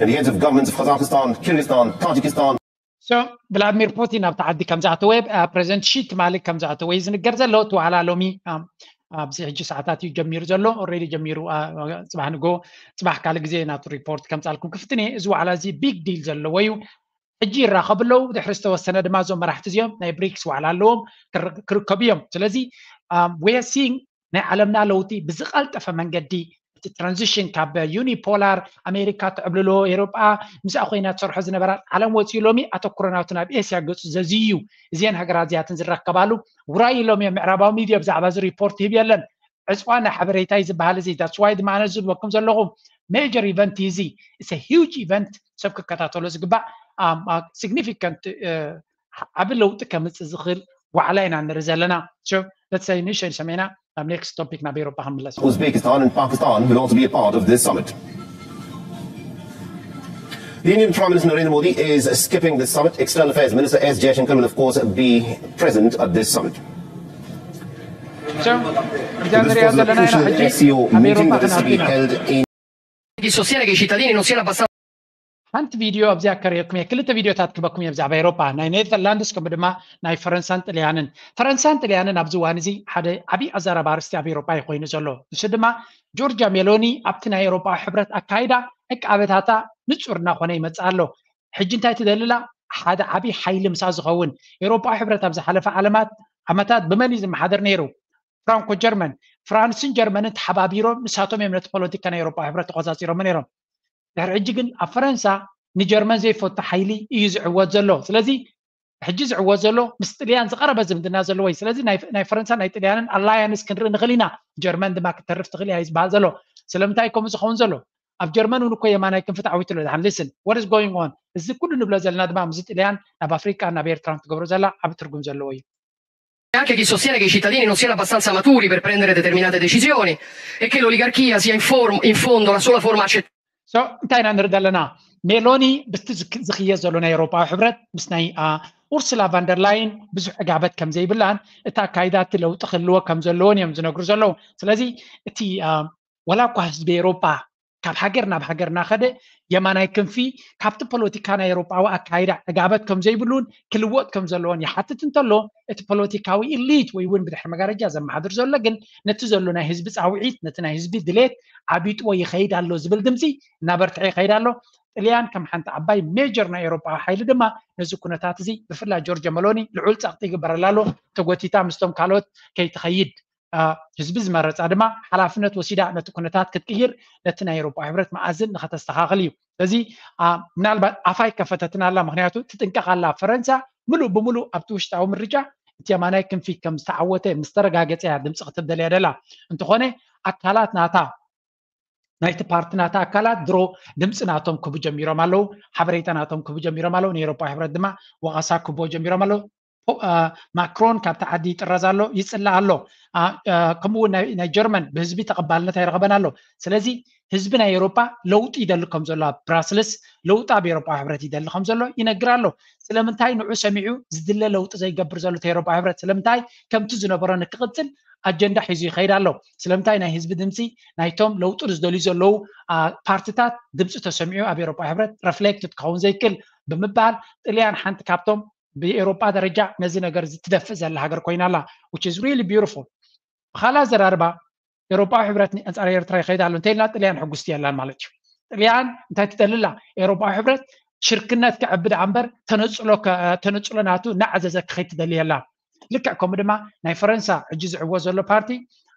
and the heads of governments of Kazakhstan, Kyrgyzstan, Tajikistan, So ቭላድሚር ፑቲን ኣብቲ ዓዲ ከም ዝኣተወ፣ ፕሬዚደንት ሺ ትማሊ ከም ዝኣተወ እዩ ዝንገር ዘሎ። እቲ ዋዕላ ሎሚ ኣብዚ ሕጂ ሰዓታት እዩ ጀሚሩ ዘሎ። ኦልሬዲ ጀሚሩ፣ ጽባሕ ንጎ፣ ጽባሕ ካልእ ግዜ ናቱ ሪፖርት ከምጻልኩም ክፍትን እየ። እዚ ዋዕላ እዚ ቢግ ዲል ዘለዎ እዩ። ሕጂ ይራኸቡ ኣለዉ። ድሕሪ ዝተወሰነ ድማ እዞም መራሕቲ እዚኦም ናይ ብሪክስ ዋዕላ ኣለዎም፣ ክርከቡ እዮም። ስለዚ we are seeing ናይ ዓለምና ለውጢ ብዝቐልጠፈ መንገዲ፣ እቲ ትራንዚሽን ካብ ዩኒፖላር ኣሜሪካ ትዕብልሎ ኤውሮጳ ምስኣ ኮይና ትሰርሖ ዝነበራ ዓለም ወፂኡ ሎሚ ኣተኩሮ ናቱ ናብ ኤስያ ገፁ ዘዝዩ እዩ። እዚአን ሃገራት እዚኣትን ዝረከባሉ ውራይ ኢሎም እዮም። ምዕራባዊ ሚድያ ብዛዕባ እዚ ሪፖርት ይህብ የለን። ዕፅዋ ናይ ሓበሬታ እዩ ዝበሃል እዚ። That's why ድማ ኣነ ዝብለኩም ዘለኹ ሜጀር ኢቨንት እዩ እዚ። It's a huge event፣ ሰብ ክከታተሎ ዝግባእ፣ ሲግኒፊካንት ዓቢ ለውጢ ከምፅእ ዝኽእል ዋዕላ ኢና ንርኢ ዘለና። So let's say ንእሽተይ ንሰመይና ናብ ኔክስት ቶፒክ ናብ ኤውሮጳ ክንምለስ። Uzbekistan and Pakistan will also be a part of this summit. The Indian Prime Minister Narendra Modi is skipping this summit. External Affairs Minister S Jaishankar will, of course, be present at this summit. So እዛ ንሪኣ ዘለና ኢና ሕጂ ኣብ ኤውሮጳ ክንኣቱ ኢና። Chi sostiene che i cittadini non siano abbastanza ሓንቲ ቪድዮ ኣብዚኣ ከርእየኩም እየ። ክልተ ቪድዮታት ክበኩም እየ ብዛዕባ ኤውሮጳ፣ ናይ ኔዘርላንድስ ከምኡ ድማ ናይ ፈረንሳን ጥልያንን። ፈረንሳን ጥልያንን ኣብዚ እዋን እዚ ሓደ ዓብዪ ኣዘራርባ ኣርእስቲ ኣብ ኤውሮጳ እዩ ኮይኑ ዘሎ። ንሱ ድማ ጆርጃ ሜሎኒ ኣብቲ ናይ ኤውሮጳዊ ሕብረት ኣካይዳ ዕቃበታታ ንጹር እናኾነ ይመጽእ ኣሎ። ሕጂ እንታይ ትደልላ? ሓደ ዓብዪ ሓይሊ ምሳ ዝኸውን። ኤውሮጳዊ ሕብረት ኣብ ዝሓለፈ ዓለማት ዓመታት ብመን እዩ ዝመሓደር ነይሩ? ፍራንኮ ጀርመን። ፍራንስን ጀርመንን ተሓባቢሮም ንሳቶም እዮም ነቲ ፖለቲካ ናይ ኤውሮጳዊ ሕብረት ተቆጻጺሮሞ ነይሮም። ድሕሪ ሕጂ ግን ኣብ ፈረንሳ ንጀርመን ዘይፈቱ ሓይሊ እዩ ዝዕወት ዘሎ። ስለዚ ሕጂ ዝዕወት ዘሎ ምስ ጥልያን ዝቐረበ ዝምድና ዘለዎ እዩ። ስለዚ ናይ ፈረንሳ ናይ ጥልያንን ኣላያንስ ክንርኢ ንኽእል ኢና። ጀርመን ድማ ክትተርፍ ትኽእል እያ እዩ ዝበሃል ዘሎ። ስለምንታይ ከምኡ ዝኸውን ዘሎ? ኣብ ጀርመን እውን እኮ የማናይ ክንፊ ተዓዊቱ ኣሎ። ድሓን listen what is going on፣ እዚ ኩሉ ንብሎ ዘለና ድማ ምስዚ ጥልያን ናብ ኣፍሪቃ ናብ ኤርትራ ትገብሮ ዘላ ዓቢ ትርጉም ዘለዎ እዩ። Anche chi sostiene che i cittadini non siano abbastanza maturi per prendere determinate decisioni e che l'oligarchia sia in, form, in fondo la sola forma accettata. So እንታይ ኢና ንርኢ ዘለና? ሜሎኒ ምስቲ ዝክየድ ዘሎ ናይ ኤውሮጳዊ ሕብረት ምስ ናይ ኡርሱላ ቫንደርላይን ብዙሕ ዕጋበት ከም ዘይብላን እቲ ኣካይዳ እቲ ለውጢ ክህልዎ ከም ዘለዎን እዮም ዝነግሩ ዘለዉ። ስለዚ እቲ ዋላ እኳ ህዝቢ ኤውሮጳ ካብ ሃገር ናብ ሃገር እናኸደ የማናይ ክንፊ ካብቲ ፖለቲካ ናይ ኤውሮጳዊ ኣካይዳ ዕጋበት ከም ዘይብሉን ክልወጥ ከም ዘለዎን ይሓትት እንተሎ፣ እቲ ፖለቲካዊ ኢሊት ወይ እውን ብድሕሪ መጋረጃ ዘመሓድር ዘሎ ግን ነቲ ዘሎ ናይ ህዝቢ ጻውዒት፣ ነቲ ናይ ህዝቢ ድሌት ዓቢጥዎ ይኸይድ ኣሎ ዝብል ድምፂ እናበርትዐ ይኸይድ ኣሎ። ጥልያን ከም ሓንቲ ዓባይ ሜጀር ናይ ኤውሮጳዊ ሓይሊ ድማ ነዚ ኩነታት እዚ ብፍላይ ጆርጆ መሎኒ ልዑል ጸቕጢ ይግበረላ ኣሎ። ተጎቲታ ምስቶም ካልኦት ከይትኸይድ ህዝቢ ዝመረፃ ድማ ሓላፍነት ወሲዳ ነቲ ኩነታት ክትቅይር ነቲ ናይ ኤውሮጳ ሕብረት መኣዝን ንኸተስተኻኽል እዩ። ስለዚ ምናልባት ኣፋይ ከፈተትን ኣላ፣ ምክንያቱ ትጥንቀቕ ኣላ። ፈረንሳ ምሉእ ብምሉእ ኣብቲ ውሽጣዊ ምርጫ እቲ የማናይ ክንፊ ከም ዝተዓወተ ምስ ተረጋገፀ እያ ድምፂ ክትደልያ ደላ። እንተኾነ ኣካላት ናታ ናይቲ ፓርቲ ናታ ኣካላት ድሮ ድምፂ ናቶም ክቡ ጀሚሮም ኣለዉ፣ ሓበሬታ ናቶም ክቡ ጀሚሮም ኣለዉ። ንኤውሮፓ ሕብረት ድማ ወቐሳ ክቦ ጀሚሮም ኣለዉ። ማክሮን ካብቲ ዓዲ ይጥረዝ ኣሎ፣ ይፅላእ ኣሎ። ከምኡ እውን ናይ ጀርመን ብህዝቢ ተቐባልነት ኣይረኸበን ኣሎ። ስለዚ ህዝቢ ናይ ኤውሮፓ ለውጢ ይደሊ ከም ዘሎ፣ ኣብ ብራስልስ ለውጢ ኣብ ኤውሮፓ ሕብረት ይደሊ ከም ዘሎ ይነግር ኣሎ። ስለምንታይ ንዑ ሰሚዑ ዝድለ ለውጢ ዘይገብር ዘሎ እቲ ኤውሮፓ ሕብረት? ስለምንታይ ከምቲ ዝነበሮ ንክቕፅል ኣጀንዳ ሒዙ ይኸይድ ኣሎ? ስለምንታይ ናይ ህዝቢ ድምፂ ናይቶም ለውጢ ዝደልዩ ዘለዉ ፓርትታት ድምፂ ተሰሚዑ ኣብ ኤውሮፓ ሕብረት ረፍሌክት ክኸውን ዘይክእል ብምባል ጥልያን ሓንቲ ካብቶም ብኤውሮጳ ደረጃ ነዚ ነገር እዚ ትደፍእ ዘላ ሃገር ኮይና ኣላ። Which is really beautiful። ብኻልእ ኣዘራርባ ኤውሮጳዊ ሕብረት ኣንጻር ኤርትራ ይኸይድ ኣሎ እንተኢልና ጥልያን ሕጉስቲ የላን ማለት እዩ። ጥልያን እንታይ ትደሊ ኣላ? ኤውሮጳዊ ሕብረት ሽርክነት ክዕቢ ደኣ እምበር ተነጽሎ ናቱ እናዓዘዘ ክኸይድ ትደሊ የላን። ልክዕ ከምኡ ድማ ናይ ፈረንሳ ሕጂ ዝዕወት ዘሎ ፓርቲ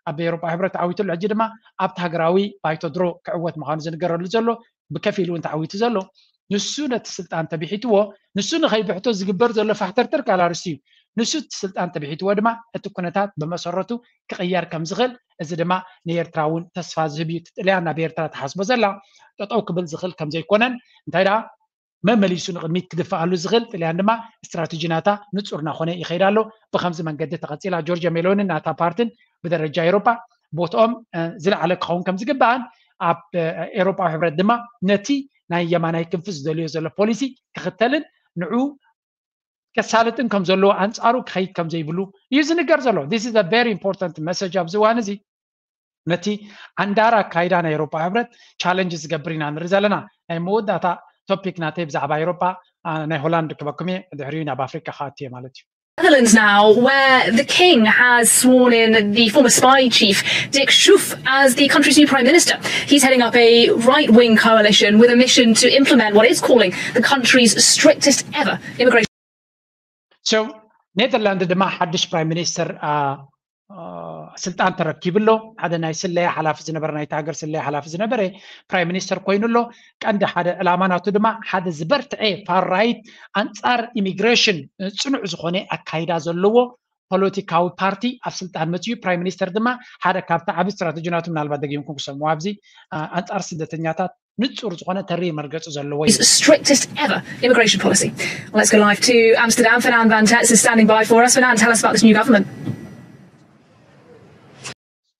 ኣብ ኤውሮጳዊ ሕብረት ተዓዊቱ ኣሎ። ሕጂ ድማ ኣብቲ ሃገራዊ ባይቶ ድሮ ክዕወት ምዃኑ ዝንገረሉ ዘሎ ብከፊል እውን ተዓዊቱ ዘሎ ንሱ ነቲ ስልጣን ተቢሒትዎ፣ ንሱ ንኸይብሕቶ ዝግበር ዘሎ ፋሕተርተር ካልእ ኣርእስቲ እዩ። ንሱ እቲ ስልጣን ተቢሒትዎ ድማ እቲ ኩነታት ብመሰረቱ ክቕየር ከም ዝኽእል፣ እዚ ድማ ንኤርትራ እውን ተስፋ ዝህብ እዩ። እቲ ጥልያን ናብ ኤርትራ ትሓስቦ ዘላ ጠጠው ክብል ዝኽእል ከም ዘይኮነን እንታይ ደኣ መመሊሱ ንቕድሚት ክድፍኣሉ ዝኽእል ጥልያን ድማ ስትራተጂ ናታ ንጹር እናኾነ ይኸይድ ኣሎ። ብኸምዚ መንገዲ ተቐጺላ ጆርጅያ ሜሎንን ናታ ፓርትን ብደረጃ ኤውሮጳ ቦትኦም ዝለዓለ ክኸውን ከም ዝግባእን ኣብ ኤውሮጳዊ ሕብረት ድማ ነቲ ናይ የማናይ ክንፊ ዝደልዮ ዘሎ ፖሊሲ ክኽተልን ንዑ ከሳልጥን ከም ዘለዎ ኣንጻሩ ክኸይድ ከም ዘይብሉ እዩ ዝንገር ዘሎ። This is a very important message ኣብዚ እዋን እዚ። ነቲ ዓንዳር ኣካይዳ ናይ ኤውሮጳ ሕብረት ቻለንጅ ዝገብር ኢና ንርኢ ዘለና። ናይ መወዳእታ ቶፒክ ናተይ ብዛዕባ ኤውሮጳ ናይ ሆላንድ ክበኩም እየ፣ ድሕሪኡ ናብ ኣፍሪቃ ክኣቱ እየ ማለት እዩ። Netherlands now, where the king has sworn in the former spy chief Dick Schoof as the country's new prime minister. He's heading up a right-wing coalition with a mission to implement what it's calling the country's strictest ever immigration. So ኔዘርላንድ ድማ ሓድሽ ፕራይም ሚኒስተር ስልጣን ተረኪቡ ኣሎ። ሓደ ናይ ስለያ ሓላፊ ዝነበረ፣ ናይቲ ሃገር ስለያ ሓላፊ ዝነበረ ፕራይም ሚኒስተር ኮይኑ ኣሎ። ቀንዲ ሓደ ዕላማ ናቱ ድማ ሓደ ዝበርትዐ ፋር ራይት ኣንጻር ኢሚግሬሽን ጽኑዕ ዝኾነ ኣካይዳ ዘለዎ ፖለቲካዊ ፓርቲ ኣብ ስልጣን መፅዩ። ፕራይም ሚኒስተር ድማ ሓደ ካብቲ ዓቢ ስትራተጂ ናቱ ምናልባት ደጊምኩም ክሰምዎ ኣብዚ ኣንጻር ስደተኛታት ንጹር ዝኾነ ተሪ መርገጺ ዘለዎ እዩ። Strictest ever immigration policy. Well, let's go live to Amsterdam. Fernand van Tets is standing by for us. Fernand, tell us about this new government.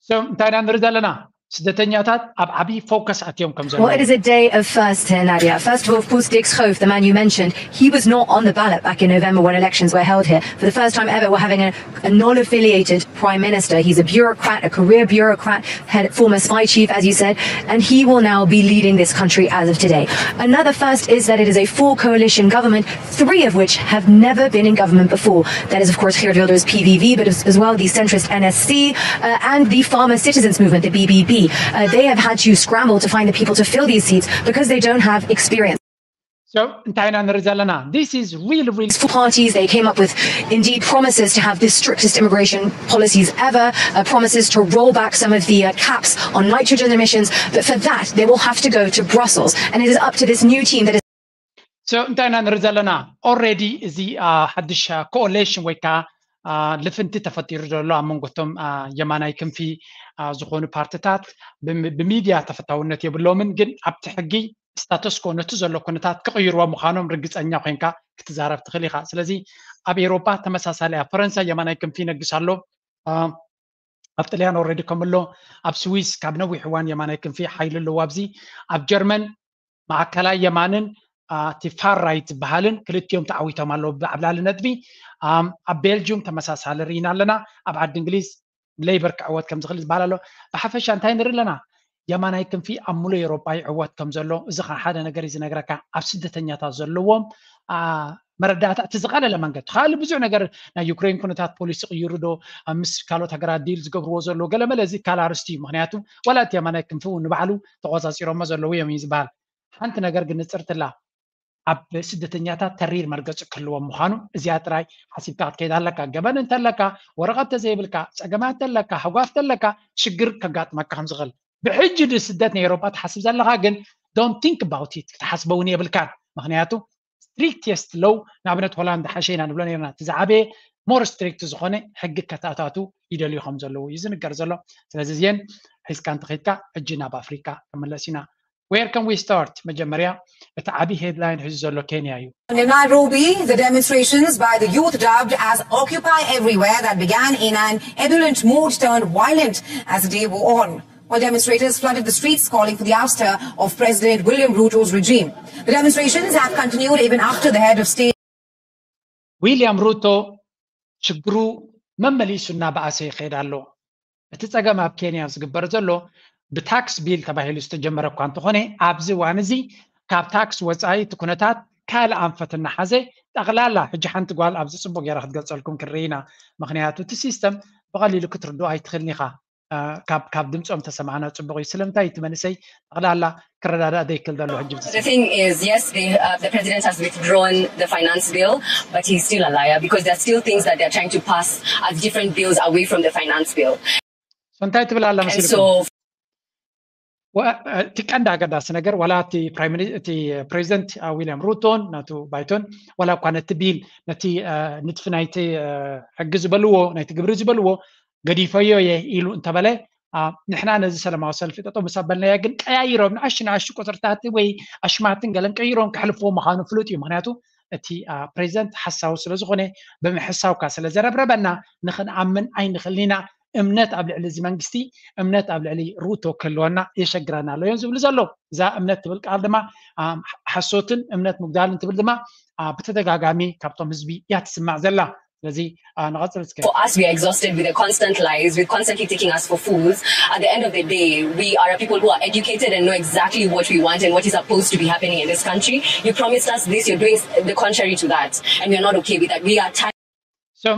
So እንታይ ኢና ንርኢ ዘለና? ስደተኛታት ኣብ ዓቢ ፎከስ ኣትዮም ከም ዘለዉ። Well, it is a day of first here, Nadia. First of all, of course, Dick Schoof, the man you mentioned, he was not on the ballot back in November when elections were held here. For the first time ever, we're having a, a non-affiliated prime minister. He's a bureaucrat, a career bureaucrat, head, former spy chief, as you said, and he will now be leading this country as of today. Another first is that it is a full coalition government, three of which have never been in government before. That is, of course, Geert Wilders' P V V, but as, as well the centrist N S C uh, and the Farmer Citizens Movement, the B B B. Uh, they have had to scramble to find the people to fill these seats because they don't have experience. So እንታይ ኢና ንርኢ ዘለና? This is really, really Four parties, they came up with indeed promises to have the strictest immigration policies ever, uh, promises to roll back some of the uh, caps on nitrogen emissions. But for that, they will have to go to Brussels. And it is up to this new team that is So እንታይ ኢና ንርኢ ዘለና? Already እዚ ሓድሽ ኮኦሌሽን ወይ ከዓ ልፍንቲ ተፈጢሩ ዘሎ ኣብ መንጎቶም የማናይ ክንፊ ዝኾኑ ፓርትታት ብሚድያ ተፈታውነት የብሎምን፣ ግን ኣብቲ ሕጊ ስታተስኮ ነቲ ዘሎ ኩነታት ክቕይርዎ ምዃኖም ርግፀኛ ኮይንካ ክትዛረብ ትኽእል ኢኻ። ስለዚ ኣብ ኤውሮፓ ተመሳሳሊ፣ ኣብ ፈረንሳ የማናይ ክንፊ ይነግስ ኣሎ። ኣብ ጥልያን ኦልሬዲ ከም ኣሎ፣ ኣብ ስዊስ ካብ ነዊሕ እዋን የማናይ ክንፊ ሓይሊ ኣለዎ። ኣብዚ ኣብ ጀርመን ማእከላይ የማንን እቲ ፋር ራይት ዝበሃልን ክልቲኦም ተዓዊቶም ኣለዉ ብዓብላሊ ነጥቢ። ኣብ ቤልጅዩም ተመሳሳሊ ርኢና ኣለና። ኣብ ዓዲ እንግሊዝ ሌበር ክዕወት ከም ዝኽእል ዝበሃል ኣሎ። ብሓፈሻ እንታይ ንርኢ ኣለና? የማናይ ክንፊ ኣብ ሙሉእ ኤውሮጳ ይዕወት ከም ዘሎ፣ እዚ ከዓ ሓደ ነገር እዩ ዝነግረካ። ኣብ ስደተኛታት ዘለዎም መረዳእታ እቲ ዝቐለለ መንገዲ፣ ካልእ ብዙሕ ነገር፣ ናይ ዩክሬን ኩነታት ፖሊሲ ቅይሩ ዶ፣ ምስ ካልኦት ሃገራት ዲል ዝገብርዎ ዘለዉ ገለመለ፣ እዚ ካልእ ኣርእስቲ እዩ። ምክንያቱ ዋላ እቲ የማናይ ክንፊ እውን ንባዕሉ ተቆፃፂሮሞ ዘለዉ እዮም እዩ ዝበሃል። ሓንቲ ነገር ግን ንፅርትላ፣ ኣብ ስደተኛታት ተሪር መርገፂ ክህልዎም ምዃኑ እዚኣ ጥራይ ሓሲብካ ክትከይድ ኣለካ። ገበን እንተለካ፣ ወረቐት ተዘይብልካ፣ ፀገማት ተለካ፣ ህጓፍ ተለካ፣ ሽግር ከጋጥመካ ከም ዝኽእል ብሕጂ ንስደት ናይ ኤውሮጳ ትሓስብ ዘለኻ ግን don't think about it፣ ክትሓስበ እውን የብልካን። ምክንያቱ strictest law፣ ንኣብነት ሆላንድ ሓሸ ኢና ንብሎ ነርና፣ እቲ ዝዓበየ more strict ዝኾነ ሕጊ ከተኣታቱ ይደልዩ ከም ዘለዉ እዩ ዝንገር ዘሎ። ስለዚ እዚአን ሒዝካ እንተኸይድካ ሕጂ ናብ ኣፍሪካ ክምለስ ኢና። Where can we start? መጀመርያ እቲ ዓብዪ headline ሒዙ ዘሎ ኬንያ እዩ። In Nairobi, the demonstrations by the youth dubbed as Occupy Everywhere that began in an ebullient mood turned violent as the day wore on. While demonstrators flooded the streets calling for the ouster of President William Ruto's regime. The demonstrations have continued even after the head of state ዊልያም ሩቶ ሽግሩ መመሊሱ እናበኣሰ ይኸይድ ኣሎ። እቲ ፀገም ኣብ ኬንያ ዝግበር ዘሎ ብታክስ ቢል ተባሂሉ ዝተጀመረ እኳ እንተኾነ፣ ኣብዚ እዋን እዚ ካብ ታክስ ወፃኢ እቲ ኩነታት ካልእ ኣንፈት እናሓዘ፣ ጠቕላላ ሕጂ ሓንቲ ጓል ኣብዚ ፅቡቅ ገይራ ክትገልፀልኩም ክንርኢ ኢና። ምክንያቱ እቲ ሲስተም ብቐሊሉ ክትርድኦ ኣይትኽእልን ኢኻ። ካብ ድምፆም ተሰማዕና ፅቡቅ እዩ። ስለምንታይ እቲ መንእሰይ ጠቕላላ ክረዳዳእ ዘይክእል ዘሎ ሕጂ The thing is, yes, they, uh, the president has withdrawn the finance bill, but he's still a liar because there are still things that they're trying to pass as different bills away from the finance bill. So እንታይ ትብል ኣላ And መሲልኩም? so እቲ ቀንዲ ኣገዳሲ ነገር ዋላ እቲ ፕራይም ሚኒ- እቲ ፕሬዚደንት ዊልያም ሩቶን ናቱ ባይቶን ዋላ እኳ ነቲ ቢል ነቲ አ፣ ንድፊ ናይቲ አ፣ ሕጊ ዝበልዎ ናይቲ ግብሪ ዝበልዎ ገዲፈዮ እየ ኢሉ እንተበለ አ፣ ንሕና ነዚ ሰላማዊ ሰልፊ ጠጠው ምስ ኣበልናዮ ግን ቀያይሮም ንኣሽቱ ንኣሽቱ ቁፅርታት ወይ ኣሽማትን ገለን ቀይሮም ከሕልፍዎ ምዃኑ ፍሉጥ እዩ። ምክንያቱ እቲ አ፣ ፕሬዚደንት ሓሳዊ ስለዝኾነ ብምሕሳውካ ስለዘረብረበና ንክንኣምን ኣይንኽእልን ኢና። እምነት ኣብ ልዕሊ እዚ መንግስቲ እምነት ኣብ ልዕሊ ሩቶ ክህልወና የሸግረና ኣሎ እዮም ዝብሉ ዘለዉ። እዛ እምነት ትብል ቃል ድማ አ፣ ሓሶትን እምነት ምጉዳልን ትብል ድማ አ፣ ብተደጋጋሚ ካብቶም ህዝቢ እያ ትስማዕ ዘላ። ስለዚ አ፣ ንቐፅል እስከ። For us, we are exhausted with the constant lies, with constantly taking us for fools. At the end of the day, we are a people who are educated and know exactly what we want and what is supposed to be happening in this country. You promised us this, you're doing the contrary to that, and we are not okay with that. We are tired. So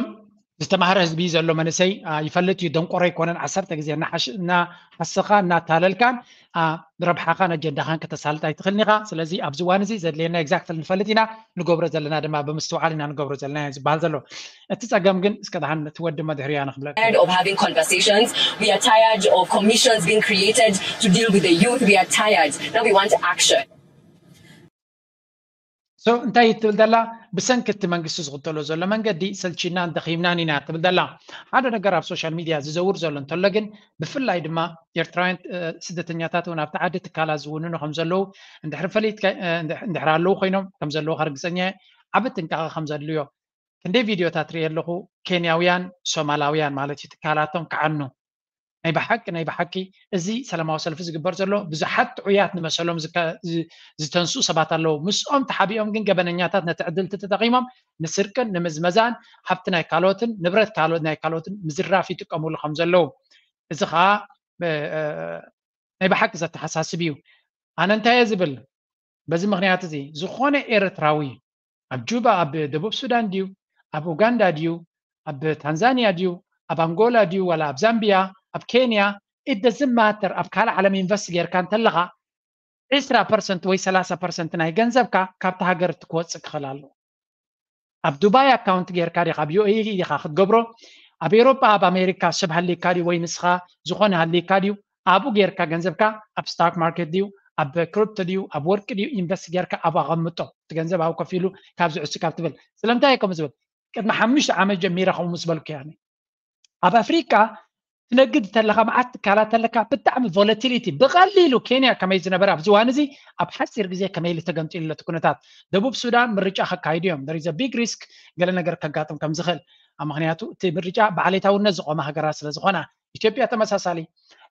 ዝተማሃረ ህዝቢ ዘሎ መንእሰይ አ፣ ይፈልጥ እዩ፣ ደንቆሮ ኣይኮነን። ዓሰርተ ግዜ እናሓሽ- እናሓሰኻ እናታለልካን አ፣ ረብሓኻን ኣጀንዳኻን ከተሳልጥ ኣይትኽእልን ኢኻ። ስለዚ ኣብዚ እዋን እዚ ዘድልየና exactly ንፈልጥ ኢና፣ ንገብሮ ዘለና ድማ ብምስትውዓል ኢና ንገብሮ ዘለና እዩ ዝበሃል ዘሎ። እቲ ፀገም ግን እስከ ደሓን እቲ ወዲ መድሕርያ ንኽብለካ። Tired of having conversations. We are tired of commissions being created to deal with the youth. We are tired. Now we want action. So እንታይ ትብል ዘላ? ብሰንኪ እቲ መንግስቲ ዝኽተሎ ዘሎ መንገዲ ሰልቺናን ደኺምናን ኢና ትብል ዘላ። ሓደ ነገር ኣብ ሶሻል ሚድያ ዝዘውር ዘሎ እንተሎ ግን ብፍላይ ድማ ኤርትራውያን እ፣ ስደተኛታት እውን ኣብቲ ዓዲ ትካላት ዝውንኑ ከም ዘለዉ እንድሕሪ ፈሊጥካ እ፣ እንድሕ- እንድሕሪ ኣለዉ ኮይኖም ከም ዘለዉ ከርግፀኛ እየ። ዓቢ ጥንቃቐ ከም ዘድልዮ ክንደይ ቪድዮታት ርኢ ኣለኹ። ኬንያውያን ሶማላውያን ማለት እዩ ትካላቶም ክዓኑ ናይ ብሓቂ ናይ ብሓቂ እዚ ሰላማዊ ሰልፊ ዝግበር ዘሎ ብዙሓት ጥዑያት ንመሰሎም ዝከ- ዝ- ዝተንስኡ ሰባት ኣለዉ። ምስኦም ተሓቢኦም ግን ገበነኛታት ነቲ ዕድል እቲ ተጠቒሞም ንስርቅን ንምዝመዛን ሃብቲ ናይ ካልኦትን ንብረት ካልኦት ናይ ካልኦትን ምዝራፍ ይጥቀምሉ ከም ዘለዉ እዚ ከዓ እ፣ እ፣ ናይ ብሓቂ ዘተሓሳስብ እዩ። ኣነ እንታይ እየ ዝብል በዚ ምክንያት እዚ ዝኾነ ኤርትራዊ ኣብ ጁባ ኣብ ደቡብ ሱዳን ድዩ ኣብ ኡጋንዳ ድዩ ኣብ ታንዛንያ ድዩ ኣብ ኣንጎላ ድዩ ዋላ ኣብ ዛምቢያ ኣብ ኬንያ it doesn't matter ኣብ ካልእ ዓለም ኢንቨስት ጌርካ እንተለኻ ዕስራ ፐርሰንት ወይ ሰላሳ ፐርሰንት ናይ ገንዘብካ ካብቲ ሃገር እቲ ክወፅእ ክኽእል ኣለዎ። ኣብ ዱባይ ኣካውንት ጌርካ ዲኻ ኣብ ዩ ኤ ኢ ኢኻ ክትገብሮ ኣብ ኤሮጳ ኣብ ኣሜሪካ ሰብ ሃሊካ ድዩ ወይ ንስኻ ዝኾነ ሃሊካ ድዩ ኣብኡ ጌርካ ገንዘብካ ኣብ ስታክ ማርኬት ድዩ ኣብ ክሪፕቶ ድዩ ኣብ ወርቂ ድዩ ኢንቨስት ጌርካ ኣብኡ ኣቐምጦ እቲ ገንዘብ ኣብኡ ከፊሉ ካብ ዝዕሱ ካብ ትብል ስለምንታይ እየ ከምኡ ዝብል ቅድሚ ሓሙሽተ ዓመት ጀሚረ ከምኡ ምስ በልኩ እያ ኣብ ኣፍሪቃ ትነግድ ተለካ መዓት ትካላት ተለካ ብጣዕሚ ቮለቲሊቲ ብቐሊሉ ኬንያ ከመይ ዝነበረ ኣብዚ ዋን እዚ ኣብ ሓፂር ግዜ ከመይ ኢሉ ተገምጢሉ እቲ ኩነታት ደቡብ ሱዳን ምርጫ ከካይዱ እዮም there is a big risk ገለ ነገር ከጋጥም ከም ዝኽእል ኣብ ምክንያቱ እቲ ምርጫ ብዓሌታውነት ዝቆመ ሃገራት ስለ ዝኾና ኢትዮጵያ ተመሳሳሊ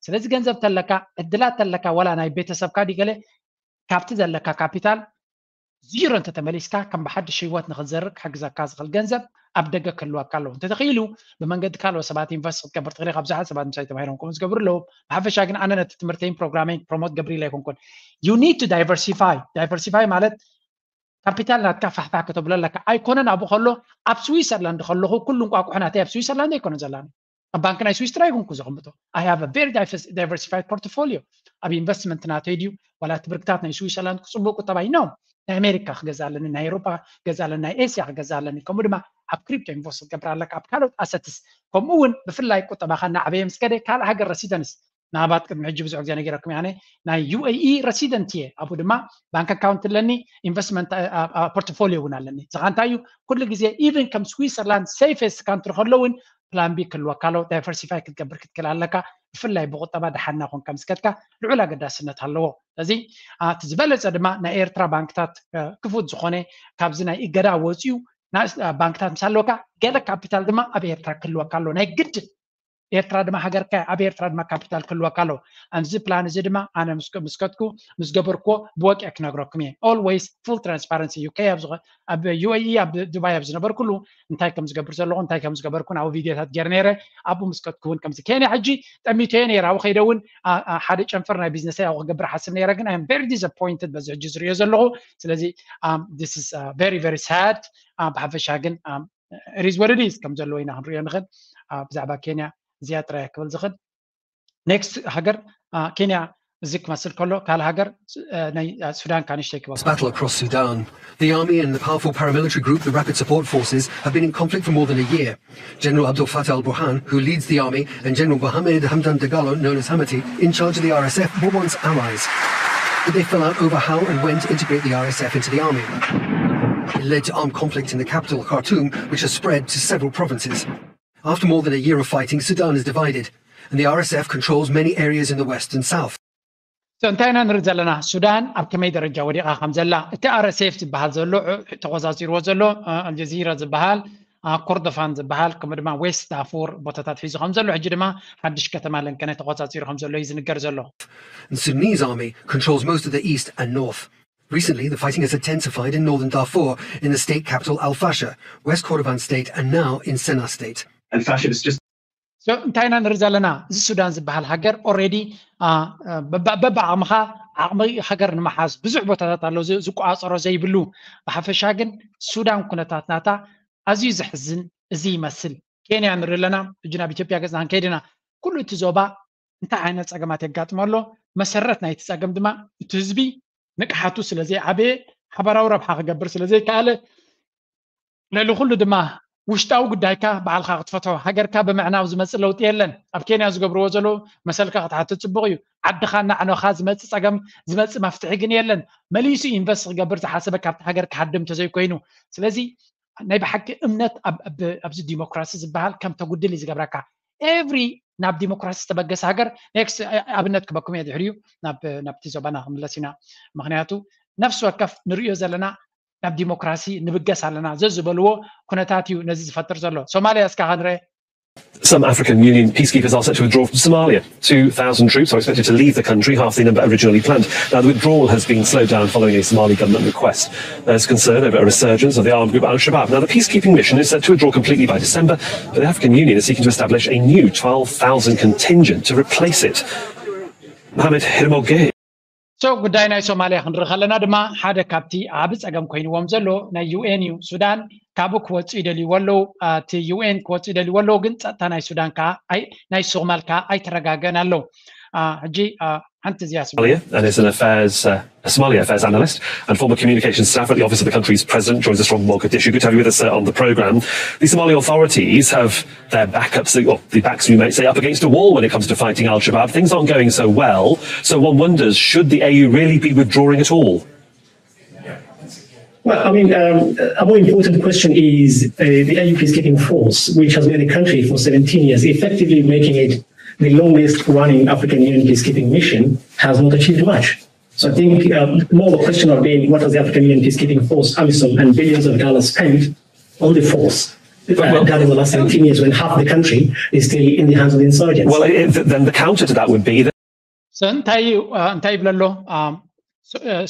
ስለዚ ገንዘብ ተለካ ዕድላት ተለካ ወላ ናይ ቤተሰብካ ዲገለ ካብቲ ዘለካ ካፒታል ዚሮ እንተተመሊስካ ከም ብሓድሽ ህይወት ንክትዘርእ ክሕግዘካ ዝኽእል ገንዘብ ኣብ ደገ ክህልወካ ኣለዎ። እንተተኽኢሉ ብመንገዲ ካልኦት ሰባት ኢንቨስት ክትገብር ትኽእል ኢኻ። ብዙሓት ሰባት ምሳይ ተማሂሮም ከምኡ ዝገብሩ ኣለዉ። ብሓፈሻ ግን ኣነ ነቲ ትምህርተይን ፕሮግራመይን ፕሮሞት ገብር ኢለ ኣይኮንኩን። You need to diversify. Diversify ማለት ካፒታል ናትካ ፋሕፋሕ ከተብሎ ኣለካ። ኣይኮነን ኣብኡ ከሎ ኣብ ስዊሰርላንድ ከለኹ ኩሉ እንቋቁሖ ናተይ ኣብ ስዊሰርላንድ ኣይኮነን ዘላኒ። ኣብ ባንክ ናይ ስዊስ ጥራይ ይኩንኩ ዘቐምጦ። I have a very diversified portfolio። ኣብ ኢንቨስትመንት ናተይ ድዩ ዋላ እቲ ብርክታት ናይ ስዊሰርላንድ ክፅቡቅ ቁጠባይ ነው። ናይ ኣሜሪካ ክገዛ ኣለኒ፣ ናይ ኤሮፓ ክገዛ ኣለኒ፣ ናይ ኤስያ ክገዛ ኣለኒ፣ ከምኡ ድማ ኣብ ክሪፕቶ ኢንቨስት ክትገብር ኣለካ፣ ኣብ ካልኦት ኣሰትስ ከምኡ እውን ብፍላይ ቁጠባካ እናዕበየ ምስ ከደ ካልእ ሃገር ረሲደንስ ንኣባት ቅድሚ ሕጂ ብዙሕ ግዜ ነጊረኩም ያነ ናይ ዩ ኤ ኢ ረሲደንት እየ። ኣብኡ ድማ ባንክ ኣካውንት ኣለኒ፣ ኢንቨስትመንት ፖርትፎሊዮ እውን ኣለኒ። ዝኻ እንታይ እዩ ኩሉ ግዜ ኢቨን ከም ስዊሰርላንድ ሴፌስት ካንትሪ ከሎ እውን ፕላን ቢ ክህልወካ ኣለዎ። ዳይቨርሲፋይ ክትገብር ክትክእል ኣለካ። ብፍላይ ብቁጠባ ደሓና ኮንካ ምስ ከድካ ልዑል ኣገዳስነት ኣለዎ። ስለዚ እቲ ዝበለፀ ድማ ናይ ኤርትራ ባንክታት ክፉት ዝኾነ ካብዚ ናይ እገዳ ወፂኡ ባንክታት ምስ ኣለወካ ገለ ካፒታል ድማ ኣብ ኤርትራ ክህልወካ ኣለዎ ናይ ግድን። ኤርትራ ድማ ሃገርካ ኣብ ኤርትራ ድማ ካፒታል ክህልወካ ኣለዎ። ኣዚ ፕላን እዚ ድማ ኣነ ምስ ከድኩ ምስ ገበርክዎ ብወቂ ክነግረኩም እየ። Always full transparency። ዩ ከ ኣብ ዩ ኤ ኢ ኣብ ዱባይ ኣብ ዝነበርኩሉ እንታይ ከም ዝገብር ዘለኹ እንታይ ከም ዝገበርኩ ኣብኡ ቪድዮታት ገይረ ነይረ። ኣብኡ ምስ ከድኩ እውን ከምዚ ኬንያ ሕጂ ጠሚተዮ ነይረ። ኣብኡ ከይደ እውን ሓደ ጨንፈር ናይ ቢዝነሰይ ኣብኡ ክገብር ሓስብ ነይረ፣ ግን I am very disappointed በዚ ሕጂ ዝሪኦ ዘለኹ። ስለዚ this is very very sad። ብሓፈሻ ግን it is what it is ከም ዘለዎ ኢና ክንሪኦ ንኽእል። ብዛዕባ ኬንያ እዚኣ ጥራይ ክብል ዝኽእል። ኔክስት ሃገር ኬንያ እዚ ክመስል ከሎ ካልእ ሃገር ናይ ሱዳን ካንሽተይ ክበ Battle across Sudan. The army and the powerful paramilitary group, the Rapid Support Forces, have been in conflict for more than a year. General Abdel Fattah al Burhan, who leads the army, and General Mohamed Hamdan Dagalo, known as Hamati, in charge of the R S F, were once allies. But they fell out over how and when to integrate the R S F into the army. It led to armed conflict in the capital, Khartoum, which has spread to several provinces. After more than a year of fighting, Sudan is divided, and the R S F controls many areas in the west and south. እንታይ ኢና ንርኢ ዘለና? ሱዳን ኣብ ከመይ ደረጃ ወዲቓ ከም ዘላ፣ እቲ ኣር ኤስ ኤፍ ዝበሃል ዘሎ ተቆጻጺርዎ ዘሎ ኣልጀዚራ ዝበሃል፣ ኮርዶፋን ዝበሃል፣ ከምኡ ድማ ዌስት ዳርፉር ቦታታት ሒዙ ከም ዘሎ፣ ሕጂ ድማ ሓድሽ ከተማ ለንከነ ተቆጻጺሩ ከም ዘሎ እዩ ዝንገር ዘሎ። The Sudanese army controls most of the east and north. Recently, the fighting has intensified in northern Darfur, in the state capital Al Fasher, West Kordofan state, and now in Sennar state. Al Fasher is just እንታይ ኢና ንርኢ ዘለና? እዚ ሱዳን ዝበሃል ሃገር ኦሬዲ በብዓቕምኻ ዓቕሚ ሃገር ንምሓዝ ብዙሕ ቦታታት ኣሎ ዝቆፃፀሮ ዘይብሉ። ብሓፈሻ ግን ሱዳን ኩነታት ናታ ኣዝዩ ዘሕዝን እዚ ይመስል። ኬንያ ንርኢ ኣለና፣ ሕጂ ናብ ኢትዮጵያ ገፅና ክንከይድ ኢና። ኩሉ እቲ ዞባ እንታይ ዓይነት ፀገማት የጋጥሞ ኣሎ? መሰረት ናይቲ ፀገም ድማ እቲ ህዝቢ ንቅሓቱ ስለዘይዓበየ፣ ሓበራዊ ረብሓ ክገብር ስለዘይከኣለ፣ ልዕሊ ኩሉ ድማ ውሽጣዊ ጉዳይካ ባዕልካ ክትፈትሖ። ሃገርካ ብምዕናው ዝመፅእ ለውጢ የለን። ኣብ ኬንያ ዝገብርዎ ዘለዉ መሰልካ ክትሓትት ፅቡቕ እዩ። ዓድኻ እናዕነኻ ዝመፅእ ፀገም ዝመፅእ መፍትሒ ግን የለን። መሊሱ ኢንቨስት ክገብር ዝሓሰበ ካብቲ ሃገር ክሃድም እንተዘይኮይኑ። ስለዚ ናይ ብሓቂ እምነት ኣብዚ ዲሞክራሲ ዝበሃል ከም ተጉድል እዩ ዝገብረካ። ኤቭሪ ናብ ዲሞክራሲ ዝተበገሰ ሃገር ኔክስት ኣብነት ክበኩም እየ ድሕሪኡ ናብቲ ዞባና ክምለስ ኢና። ምክንያቱ ነፍሲ ወከፍ ንርእዮ ዘለና ናብ ዲሞክራሲ ንብገስ ኣለና ዘዝበልዎ ኩነታት እዩ ነዚ ዝፈጥር ዘሎ። ሶማሊያ እስካ ክንርአ። Some African Union peacekeepers are set to withdraw from Somalia. Two thousand troops are expected to leave the country, half the number originally planned. Now, the withdrawal has been slowed down following a Somali government request. There's concern over a resurgence of the armed group Al Shabaab. Now, the peacekeeping mission is set to withdraw completely by December, but the African Union is seeking to establish a new twelve thousand contingent to replace it. Mohamed Hiramoge. So ጉዳይ ናይ ሶማሊያ ክንርኢ ከለና ድማ ሓደ ካብቲ ዓቢ ጸገም ኮይንዎም ዘሎ ናይ ዩ ኤን እዩ። ሱዳን ካብኡ ክወጽኡ ይደልይዎ ኣለዉ። እቲ ዩ ኤን ክወጽኡ ይደልይዎ ኣለዉ፣ ግን ጸጥታ ናይ ሱዳን ከዓ ናይ ሶማል ከዓ ኣይተረጋገእን ኣለዉ። ሕጂ ሓንቲ እዚኣ Somalia and is an affairs uh, a Somali affairs analyst and former communications staffer at the office of the country's president, joins us from Mogadishu. Good to have you with us uh, on the programme. The Somali authorities have their backups, well, the backs, you might say, up against a wall when it comes to fighting Al Shabaab. Things aren't going so well, so one wonders, should the A U really be withdrawing at all? Well, I mean, um, a more important question is uh, the A U peacekeeping force, which has been in the country for seventeen years, effectively making it the longest running African Union peacekeeping mission, has not achieved much. So I think um, more the question of being what does the African Union peacekeeping force, AMISOM, and billions of dollars spent on the force uh, well, done in the last seventeen years when half the country is still in the hands of the insurgents. Well, it, then the counter to that would be that እንታይ እንታይ ይብለሎ?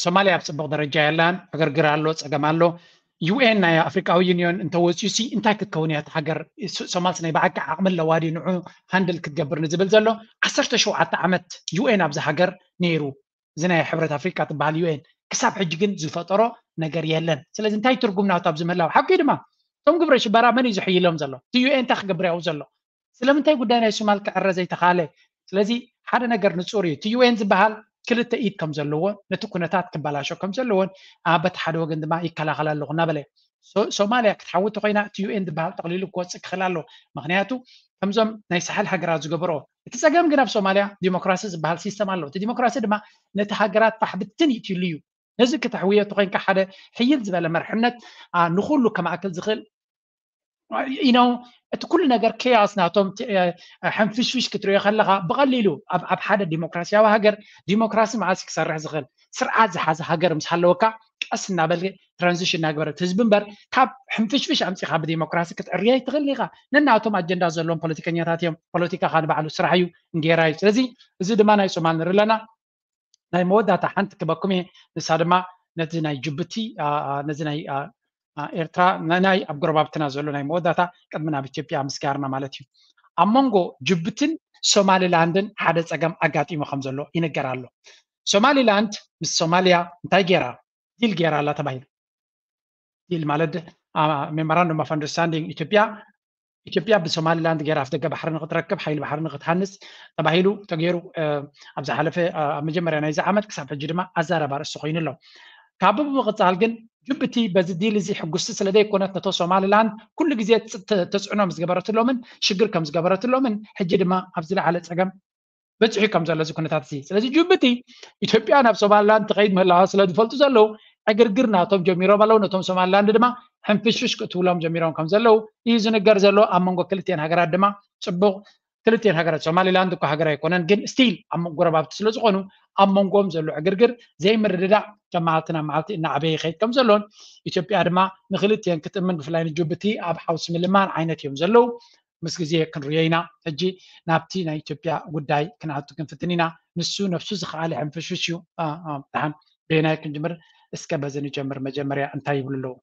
ሶማሊያ ኣብ ፅቡቅ ደረጃ የላን፣ ዕግርግር ኣሎ፣ ፀገም ኣሎ። ዩ ኤን ናይ ኣፍሪካዊ ዩኒዮን እንተወፅዩ ሲ እንታይ ክትከውን እያ እቲ ሃገር? ሶማልስ ናይ ብሓቂ ዓቕሚ ኣለዋ ድዩ ንዑ ሃንድል ክትገብር ንዝብል ዘሎ? ዓሰርተ ሸውዓተ ዓመት ዩ ኤን ኣብዚ ሃገር ነይሩ። እዚ ናይ ሕብረት ኣፍሪካ ትበሃል ዩ ኤን ክሳብ ሕጂ ግን ዝፈጠሮ ነገር የለን። ስለዚ እንታይ ትርጉም ናቱ ኣብዚ ምህላው? ሓቂ ድማ እቶም ግብረ ሽበራ መን እዩ ዝሕይሎም ዘሎ? እቲ ዩ ኤን እንታይ ክገብር ያው ዘሎ? ስለምንታይ ጉዳይ ናይ ሶማል ክዕረ ዘይተኻለ? ስለዚ ሓደ ነገር ንፁር እዩ። እቲ ዩ ኤን ዝበሃል ክልተ ኢድ ከም ዘለዎ፣ ነቲ ኩነታት ክበላሾ ከም ዘለዎን በቲ ሓደ ወገን ድማ ይከላኸል ኣለኹ እናበለ ሶማልያ ክትሓውት ኮይና እቲ ዩ ኤን ዝበሃል ጠቕሊሉ ክወፅእ ክኽእል ኣሎ። ምክንያቱ ከምዞም ናይ ሳሕል ሃገራት ዝገበሮ እቲ ፀገም ግን ኣብ ሶማልያ ዲሞክራሲ ዝበሃል ሲስተም ኣሎ። እቲ ዲሞክራሲ ድማ ነቲ ሃገራት ፋሕብትን ይትሉ እዩ። ነዚ ክተሕውዮ ተኮይንካ ሓደ ሕይል ዝበለ መርሕነት ንኩሉ ከማእክል ዝኽእል ኢኖ እቲ ኩሉ ነገር ኬያስ ናቶም ሕንፍሽፍሽ ክትሪኦ ከለካ ብቀሊሉ ኣብ ሓደ ዲሞክራሲያዊ ሃገር ዲሞክራሲ መዓስ ክሰርሕ ዝኽእል ስርዓት ዝሓዘ ሃገር ምስ ሃለወካ ቀስ እናበል ትራንዚሽን እናግበረት ህዝቢ እምበር ካብ ሕንፍሽፍሽ ኣምፂኻ ብዲሞክራሲ ክትዕርዮ ኣይትኽእል ኢኻ። ነናቶም ኣጀንዳ ዘለዎም ፖለቲከኛታት እዮም። ፖለቲካ ካን ባዕሉ ስራሕ እዩ፣ እንጌራ እዩ። ስለዚ እዚ ድማ ናይ ሶማል ንርኢ ኣለና። ናይ መወዳእታ ሓንቲ ክበኩም እየ። ንሳ ድማ ነዚ ናይ ጅቡቲ ነዚ ናይ ኤርትራ ናይ ኣብ ጎረባብትና ዘሎ ናይ መወዳእታ ቅድሚ ናብ ኢትዮጵያ ምስጋርና ማለት እዩ። ኣብ መንጎ ጅቡትን ሶማሊላንድን ሓደ ፀገም ኣጋጢሙ ከም ዘሎ ይንገር ኣሎ። ሶማሊላንድ ምስ ሶማሊያ እንታይ ገይራ? ዲል ገይራ ኣላ ተባሂሉ። ዲል ማለት ሜሞራንዱም ኦፍ ኣንደርስታንዲንግ ኢትዮጵያ ኢትዮጵያ ብሶማሊላንድ ገይራ ኣፍደገ ባሕሪ ንክትረክብ ሓይሊ ባሕሪ ንክትሃንፅ ተባሂሉ ተገይሩ ኣብ ዝሓለፈ ኣብ መጀመርያ ናይዚ ዓመት ክሳብ ሕጂ ድማ ኣዛረባ ርእሲ ኮይኑ ኣሎ። ካብ ብምቕፃል ግን ጅቡቲ በዚ ዲል እዚ ሕጉስቲ ስለ ዘይኮነት ነቶ ሶማሊላንድ ኩሉ ግዜ ተፅዕኖ ምስ ገበረትሎምን ሽግር ከም ዝገበረትሎምን ሕጂ ድማ ኣብ ዝለዓለ ፀገም በፂሑ ከም ዘሎ እዚ ኩነታት እዚ። ስለዚ ጅቡቲ ኢትዮጵያ ናብ ሶማሊላንድ ትኸይድ ምህላዋ ስለ ዝፈልጡ ዘለዉ ዕግርግር ናቶም ጀሚሮም ኣለዉ። ነቶም ሶማሊላንድ ድማ ሕንፍሽፍሽ ክትብሎም ጀሚሮም ከም ዘለዉ እዩ ዝንገር ዘሎ። ኣብ መንጎ ክልቲኤን ሃገራት ድማ ፅቡቕ ክልቲኤን ሃገራት ሶማሊላንድ እኮ ሃገር ኣይኮነን፣ ግን ስቲል ኣብ ጎረባብቲ ስለ ዝኾኑ ኣብ መንጎም ዘሎ ዕግርግር ዘይምርድዳእ ካብ መዓልቲ ናብ መዓልቲ እናዓበየ ይኸይድ ከም ዘሎን ኢትዮጵያ ድማ ንክልቲኤን ክትእምን ብፍላይ ንጅቡቲ ኣብ ሓውሲ ምልማን ዓይነት እዮም ዘለዉ። ምስ ግዜ ክንርዮ ኢና። ሕጂ ናብቲ ናይ ኢትዮጵያ ጉዳይ ክንኣቱ ክንፍትን ኢና። ንሱ ነብሱ ዝኸኣለ ሕንፍሽፍሽ እዩ። ደሓን በየናይ ክንጅምር? እስከ በዚ ንጀምር። መጀመርያ እንታይ ይብሉ ኣለዉ?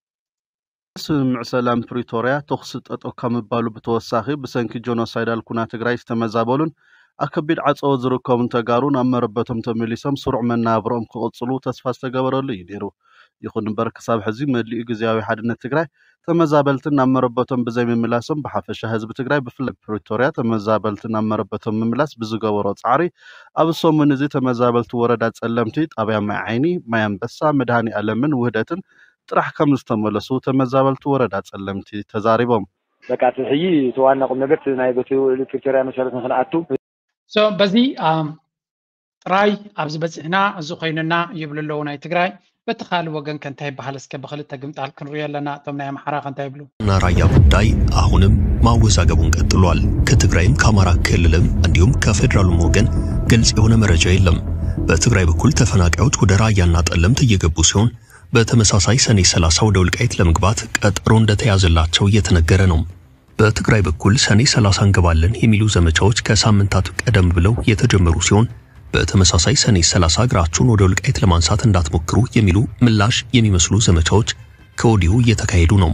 ስምምዕ ሰላም ፕሪቶርያ ተኹሲ ጠጠው ካብ ምባሉ ብተወሳኺ ብሰንኪ ጆኖሳይዳል ኩናት ትግራይ ዝተመዛበሉን ኣብ ከቢድ ዓፀቦ ዝርከቡን ተጋሩ ናብ መረበቶም ተመሊሶም ስሩዕ መነባብሮኦም ክቕፅሉ ተስፋ ዝተገበረሉ እዩ ነይሩ። ይኹን እምበር ክሳብ ሕዚ መሊኡ ግዝያዊ ሓድነት ትግራይ ተመዛበልትን ናብ መረበቶም ብዘይምምላሶም ብሓፈሻ ህዝቢ ትግራይ ብፍላይ ፕሪቶርያ ተመዛበልትን ናብ መረበቶም ምምላስ ብዝገበሮ ፃዕሪ ኣብ ሰሙን እዚ ተመዛበልቲ ወረዳ ፀለምቲ፣ ጣብያ ማይ ዓይኒ፣ ማይ ኣንበሳ፣ መድሃኒ ኣለምን ውህደትን ጥራሕ ከም ዝተመለሱ ተመዛበልቲ ወረዳ ፀለምቲ ተዛሪቦም። በቃ እቲ ሕጂ እቲ ዋና ቁም ነገር እቲ ናይ በቲ ውዕሊ ፕሪቶርያ መሰረት ንክንኣቱ so በዚ ጥራይ ኣብዚ በፂሕና እዚ ኮይኑና ይብሉ ኣለዉ ናይ ትግራይ። በቲ ካልእ ወገን ከ እንታይ ይበሃል? እስከ ብክልተ ግምጣል ክንሪኦ ኣለና። እቶም ናይ ኣምሓራ ከ እንታይ ይብሉ? ናይ ራያ ጉዳይ ኣሁንም ማወዛገቡን ቀጥሏል። ከትግራይም ከአማራ ክልልም እንዲሁም ከፌዴራሉም ወገን ግልጽ የሆነ መረጃ የለም። በትግራይ በኩል ተፈናቃዮች ወደ ራያና ጠለምት እየገቡ ሲሆን በተመሳሳይ ሰኔ ሠላሳ ወደ ወልቃይት ለመግባት ቀጠሮ እንደተያዘላቸው እየተነገረ ነው። በትግራይ በኩል ሰኔ ሠላሳ እንገባለን የሚሉ ዘመቻዎች ከሳምንታት ቀደም ብለው የተጀመሩ ሲሆን በተመሳሳይ ሰኔ ሠላሳ እግራችሁን ወደ ወልቃይት ለማንሳት እንዳትሞክሩ የሚሉ ምላሽ የሚመስሉ ዘመቻዎች ከወዲሁ እየተካሄዱ ነው።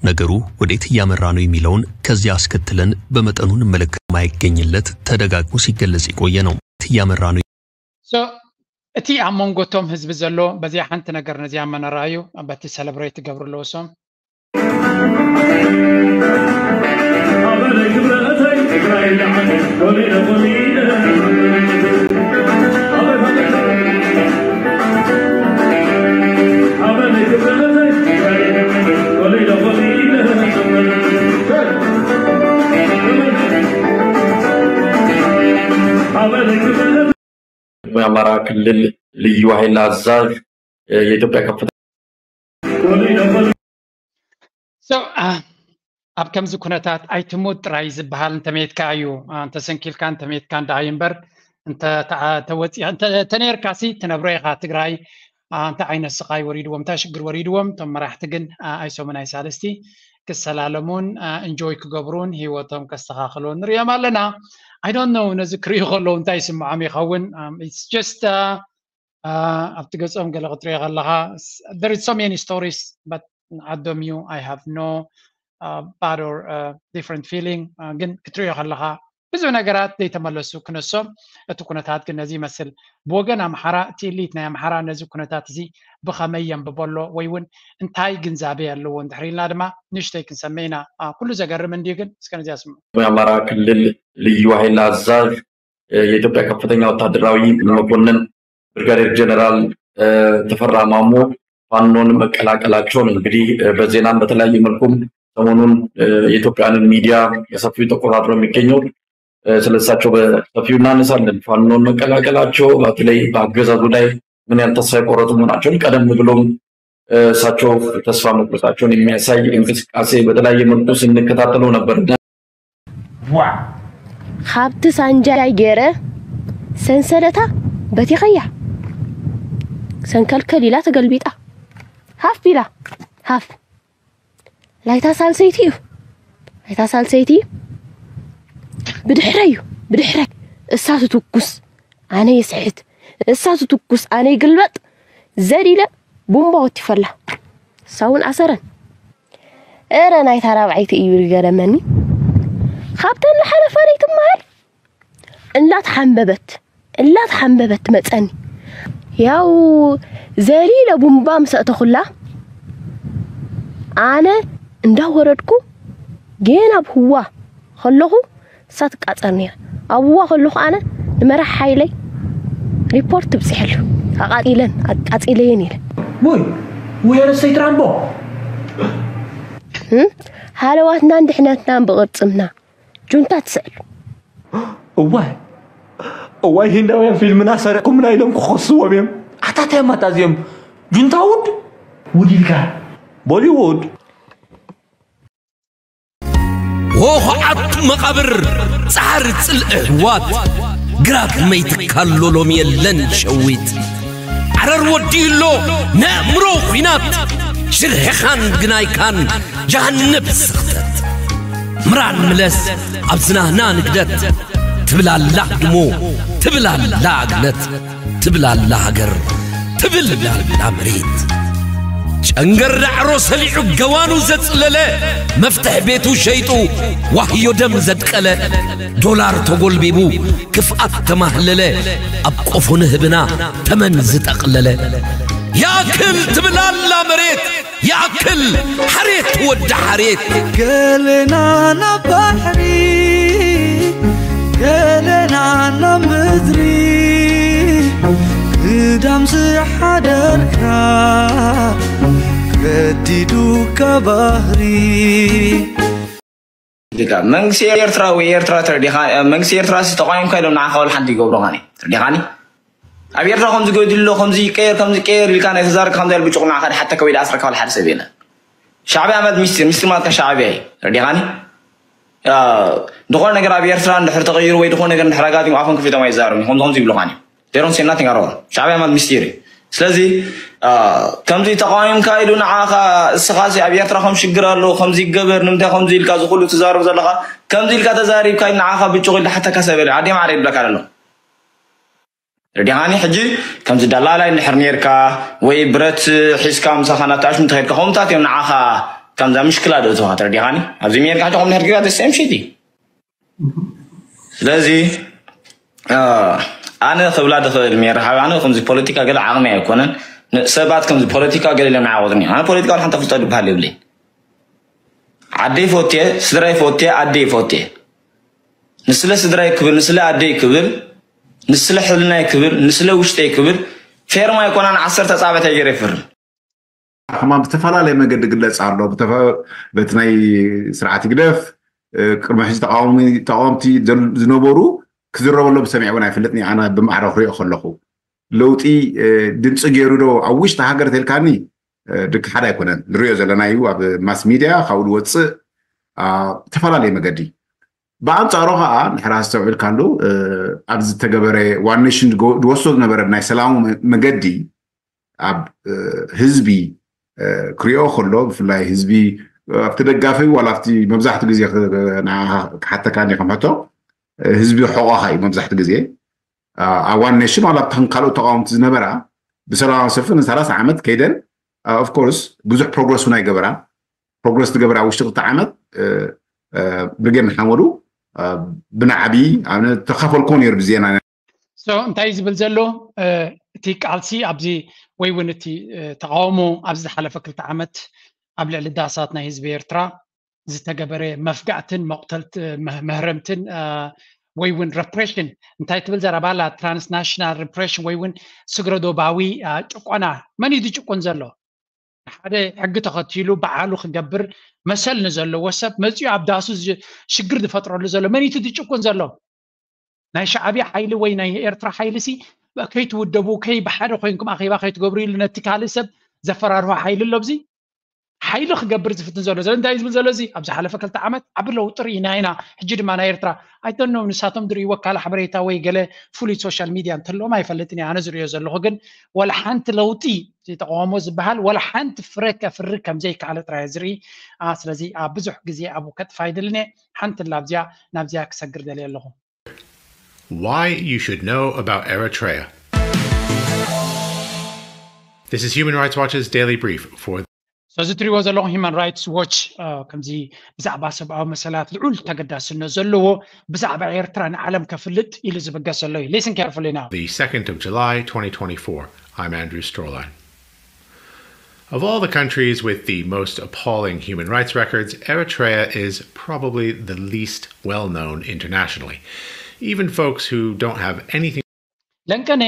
ነገሩ ወዴት እያመራ ነው የሚለውን ከዚህ አስከትለን በመጠኑ እንመለከት። የማይገኝለት ተደጋግሞ ሲገለጽ የቆየ ነው። ወዴት እያመራ ነው? So እቲ ኣብ መንጎ እቶም ህዝቢ ዘሎ በዚኣ ሓንቲ ነገር ነዚኣ መነራዩ በቲ ሰለብሬት ይገብሩ ኣለዎ ሶም የአማራ ክልል ልዩ ኃይል አዛዥ የኢትዮጵያ ከፍተኛ So ኣብ ከምዚ ኩነታት ኣይትሙት ጥራይ ዝበሃል እንተሜትካ እዩ። እንተሰንኪልካ እንተሜትካ እንዳሃዩ እምበር ተነርካሲ ትነብሮ ኢኻ። ትግራይ እንታይ ዓይነት ስቓይ ወሪድዎም እንታይ ሽግር ወሪድዎም እቶም መራሕቲ ግን ኣይሶምን ኣይሳልስቲ ክሰላለሙን እንጆይ ክገብሩን ህይወቶም ከስተኻኽልዎ ንሪኦም ኣለና። I don't know ነዚ ክርእዩ ከለዉ እንታይ ይስምዖም ይኸውን። It's just ኣብቲ ገጾም ገለ ክትሪኦ ከለኻ there is so many stories but ዓዶም እዩ። I have no bad or different feeling። ግን ክትሪኦ ከለኻ ብዙሕ ነገራት ዘይተመለሱ ክነሶም፣ እቲ ኩነታት ግን ነዚ ይመስል። ብወገን ኣምሓራ እቲ ኢሊት ናይ ኣምሓራ ነዚ ኩነታት እዚ ብኸመይ የንብቦ ኣሎ ወይ እውን እንታይ ግንዛቤ ኣለዎ እንድሕር ኢልና ድማ ንእሽተይ ክንሰምዕ ኢና። ኩሉ ዘገርም እንድዩ፣ ግን እስከ ነዚኣ ስምዑ። የአማራ ክልል ልዩ ኃይል አዛዥ የኢትዮጵያ ከፍተኛ ወታደራዊ መኮንን ብርጋዴር ጀነራል ተፈራ ማሞ ፋኖን መቀላቀላቸው ነው። እንግዲህ በዜናም በተለያየ መልኩም ሰሞኑን የኢትዮጵያንን ሚዲያ በሰፊው ተቆጣጥሮ የሚገኘው ስለሳቸው በሰፊው እናነሳለን። ፋኖን መቀላቀላቸው በተለይ በአገዛዙ ላይ ምን ያህል ተስፋ የቆረጡ መሆናቸውን ቀደም ብሎም እሳቸው ተስፋ መቁረጣቸውን የሚያሳይ እንቅስቃሴ በተለያየ መልኩ ስንከታተለው ነበር። ዋ ካብቲ ሳንጃይ ገይረ ሰንሰለታ በቲኸያ ሰንከልከል ኢላ ተገልቢጣ ሃፍ ኢላ ሃፍ ላይታ ሳልሰይቲ እዩ ላይታ ሳልሰይቲ ብድሕረይ እዩ ብድሕረይ እሳ ትትኩስ ኣነ ይስሕት እሳ ትትኩስ ኣነ ይግልበጥ ዘዲለ ቡምባ ወቲፈላ እሳ እውን ኣሰረን እረ ናይታ ራብዓይቲ እዩ ዝገረመኒ ካብተን ዝሓለፋ ዘይትመሃል እላተሓንበበት እላተሓንበበት ትመፀኒ ያው ዘሊለ ቡምባ ምስ ኣእተኹላ ኣነ እንዳወረድኩ ጌና ኣብ ህዋ ከለኹ እሳ ትቃፀር ነይራ ኣብዋ ከለኹ ኣነ ንመራሕ ሓይለይ ሪፖርት ትብፅሐሉ ኣቃፂለን ኣቃፂለየን ኢለ ውይ ውይ ኣነስተይቲ ራምቦ ሃለዋትናን ድሕነትናን ብቕርፅምና ጁንታ ትስዕሉ እዋይ እዋይ ሂንዳውያን ፊልምና ሰሪቕኩምና ኢሎም ክኸስዎም እዮም ኣታትያም ኣታዚኦም ጁንታ ውድ ውድ ኢልካ ቦሊውድ ወኹዓት መቓብር ጻዕሪ ጽልኢ ኣሕዋት ግራት መይትካሎ ሎም የለን ሸዊት ዓረር ወዲኡሎ ነእምሮ ኲናት ሽርሕኻን ግናይካን ጃሃንብ ስኽተት ምራን ምለስ ኣብ ዝናህና ንግደት ትብል ኣላ ህድሞ ትብል ኣላ ኣግነት ትብል ኣላ ሃገር ትብል ኣላ መሬት ጨንገር ዳዕሮ ሰሊዑ ገዋኑ ዘጽለለ መፍትሕ ቤቱ ሸይጡ ዋህዮ ደም ዘድቀለ ዶላር ተጎልቢቡ ክፍኣት ተማህለለ ኣብ ቆፎ ንህብና ተመን ዝጠቕለለ ያክል ትብል ኣላ መሬት ያክል ሓሬት ወዲ ሓሬት ገለና ናብ ባሕሪ ገለና ናብ ምድሪ ክዳም ዝሓደርካ ከዲዱካ ባህሪ መንግስቲ ኤርትራ ወይ ኤርትራ ተረዲኻ መንግስቲ ኤርትራ ተቋሚምካ ኢሎም ንዓኻ ወላ ሓንቲ ይገብሩኻን ተረዲኻኒ ኣብ ኤርትራ ከምዚ ገዲሉ ኣሎ ከምዚ ይቀየር ከምዚ ይቀየር ኢልካ ናይ ተዛረብካ ከምዚ ኢሉ ብጭቑ ንዓኻ ድሓተካ ወይ ድኣስረካ ወላ ሓደ ሰብ የለን ሻዕብያ ማለት ሚስጢር ሚስጢር ማለት ካብ ሻዕብያ እዩ ተረዲኻኒ ዝኾነ ነገር ኣብ ኤርትራ እንድሕር ተቐይሩ ወይ ዝኾነ ነገር እንድሕር ኣጋጢሙ ኣፎም ከፊቶም ኣይዛረቡን ከምዚ ከምዚ ይብሉኻን እዮም they don't say nothing at all ሻዕብያ ማለት ሚስጢር እዩ ስለዚ ከምዚ ተቃዊምካ ኢሉ ንዓኻ እስኻሲ ኣብ ኤርትራ ከም ሽግር ኣሎ ከምዚ ይገበር ንምንታይ ከምዚ ኢልካ ዝኩሉ ትዛረብ ዘለኻ ከምዚ ኢልካ ተዛሪብካ ኢሉ ንዓኻ ብጭቑ ኢሉ ሓተካ ሰብ የለ ኣዴ ማዕረ ይብለካ ኣሎ ርዲኻኒ ሕጂ ከምዚ ደላላይ እንድሕር ነርካ ወይ ብረት ሒዝካ ምሳኻ ናተኣሽሙ ተኸድካ ከምታት እዮም ንዓኻ ከምዛ ምሽክላ ደእትኻ ተረዲኻኒ ኣብዚ ሜርካ ሕጂ ከም ድሕር ጌጋ ደስም ሽቲ ስለዚ ኣነ ክብላ ድኽእል ሜር ሓብ ኣነ ከምዚ ፖለቲካ ገለ ዓቕሚ ኣይኮነን ሰባት ከምዚ ፖለቲካ ገለ ኢሎም ንዓወጥኒ ኣነ ፖለቲካ ሓንተ ፍልጠ ድበሃል የብለይ ዓደይ ፎቴ ስድራይ ፎቴ ኣደይ ፎቴ ንስለ ስድራይ ክብል ንስለ ኣደይ ክብል ንስለ ሕልናይ ክብል ንስለ ውሽጠይ ክብል ፌርማ ኣይኮናን ዓሰርተ ጻብዕት ኣይገይረ ይፍርም ሕማም ብዝተፈላለየ መገዲ ግለፅ ኣሎ በቲ ናይ ስርዓት ይግደፍ ቅድሚ ሕዚ ተቃወምቲ ዝነበሩ ክዝረበሎም ሰሚዐ እውን ኣይፈልጥኒ ኣነ ብማዕረ ክሪኦ ከለኹ ለውጢ ድምፂ ገይሩ ዶ ኣብ ውሽጢ ሃገር ተልካኒ ድካ ሓደ ኣይኮነን ንሪኦ ዘለና እዩ ኣብ ማስ ሚድያ ካብኡ ዝወፅእ ዝተፈላለየ መገዲ ብኣንፃሩ ከዓ ንሕራ ዝተውዕልካሉ ኣብ ዝተገበረ ዋን ኔሽን ዝወስዶ ዝነበረ ናይ ሰላሙ መገዲ ኣብ ህዝቢ ክሪኦ ከሎ ብፍላይ ህዝቢ ኣብቲ ደጋፊ ዋላ ኣብቲ መብዛሕትኡ ግዜ ክሓተካ እንዲ ከም ሕቶ ህዝቢ ሕቆኻ እዩ መብዛሕትኡ ግዜ ኣብ ዋን ኔሽን ዋላ ኣብተን ካልኦት ተቃወምቲ ዝነበራ ብሰላማዊ ሰልፊ ንሰላሳ ዓመት ከይደን ኦፍኮርስ ብዙሕ ፕሮግረስ እውን ኣይገበራን። ፕሮግረስ ዝገበራ ውሽጢ ክልተ ዓመት ብርጌድ ንሓመዱ ብናዕቢ ተካፈልኮ ነይሩ ብዜና። እንታይ ዝብል ዘሎ እቲ ቃልሲ ኣብዚ ወይ እውን እቲ ተቃውሞ ኣብዚ ዝሓለፈ ክልተ ዓመት ኣብ ልዕሊ ዳሳት ናይ ህዝቢ ኤርትራ ዝተገበረ መፍጋእትን መቕተልት መህረምትን ወይ እውን ረፕሬሽን እንታይ ትብል ዘረባላ ትራንስናሽናል ረፕሬሽን ወይ እውን ስግረዶባዊ ጭቆና መን እዩ ዝጭቁን ዘሎ? ሓደ ሕጊ ተኸቲሉ በዓሉ ክገብር መሰል ንዘለዎ ሰብ መፅኡ ኣብ ዳሱ ሽግር ዝፈጥረሉ ዘሎ መን እዩ ዝጭቁን ዘሎ? ናይ ሻዕብያ ሓይሊ ወይ ናይ ኤርትራ ሓይሊ ሲ ከይትውደቡ ከይ ብሓደ ኮይንኩም ኣኼባ ከይትገብሩ ኢሉ ነቲ ካልእ ሰብ ዘፈራርሆ ሓይሊ ኣሎ ኣብዚ ሓይሊ ክገብር ዝፍትን ዘሎ ዘሎ እንታይ ዝብል ዘሎ እዚ ኣብ ዝሓለፈ ክልተ ዓመት ዓቢ ለውጢ ርኢና ኢና። ሕጂ ድማ ናይ ኤርትራ ኣይተኖ ንሳቶም ዝርእይዎ ካልእ ሓበሬታ ወይ ገለ ፍሉይ ሶሻል ሚድያ እንተለዎም ኣይፈልጥን እየ ኣነ ዝርእዮ ዘለኹ ግን ወላ ሓንቲ ለውጢ ተቃውሞ ዝበሃል ወላ ሓንቲ ፍረ ከፍሪ ከምዘይከኣለ ጥራይ ዝርኢ። ስለዚ ኣብ ብዙሕ ግዜ ኣብኡ ከጥፋ ይደልን እየ። ሓንቲ ላብዚያ ናብዚያ ክሰግር ደልየ ኣለኹ። Why you should know about Eritrea. This is Human Rights Watch's Daily Brief for ስለዚ ትሪእዎ ዘለኹም ሂማን ራይትስ ዎች ከምዚ ብዛዕባ ሰብኣዊ መሰላት ልዑል ተገዳስነት ዘለዎ ብዛዕባ ኤርትራ ንዓለም ከፍልጥ ኢሉ ዝብገስ ዘሎ እዩ። Listen carefully now. The second of July twenty twenty-four. I'm Andrew Strolline. Of all the countries with the most appalling human rights records, Eritrea is probably the least well known internationally. Even folks who don't have anything ለንቀነ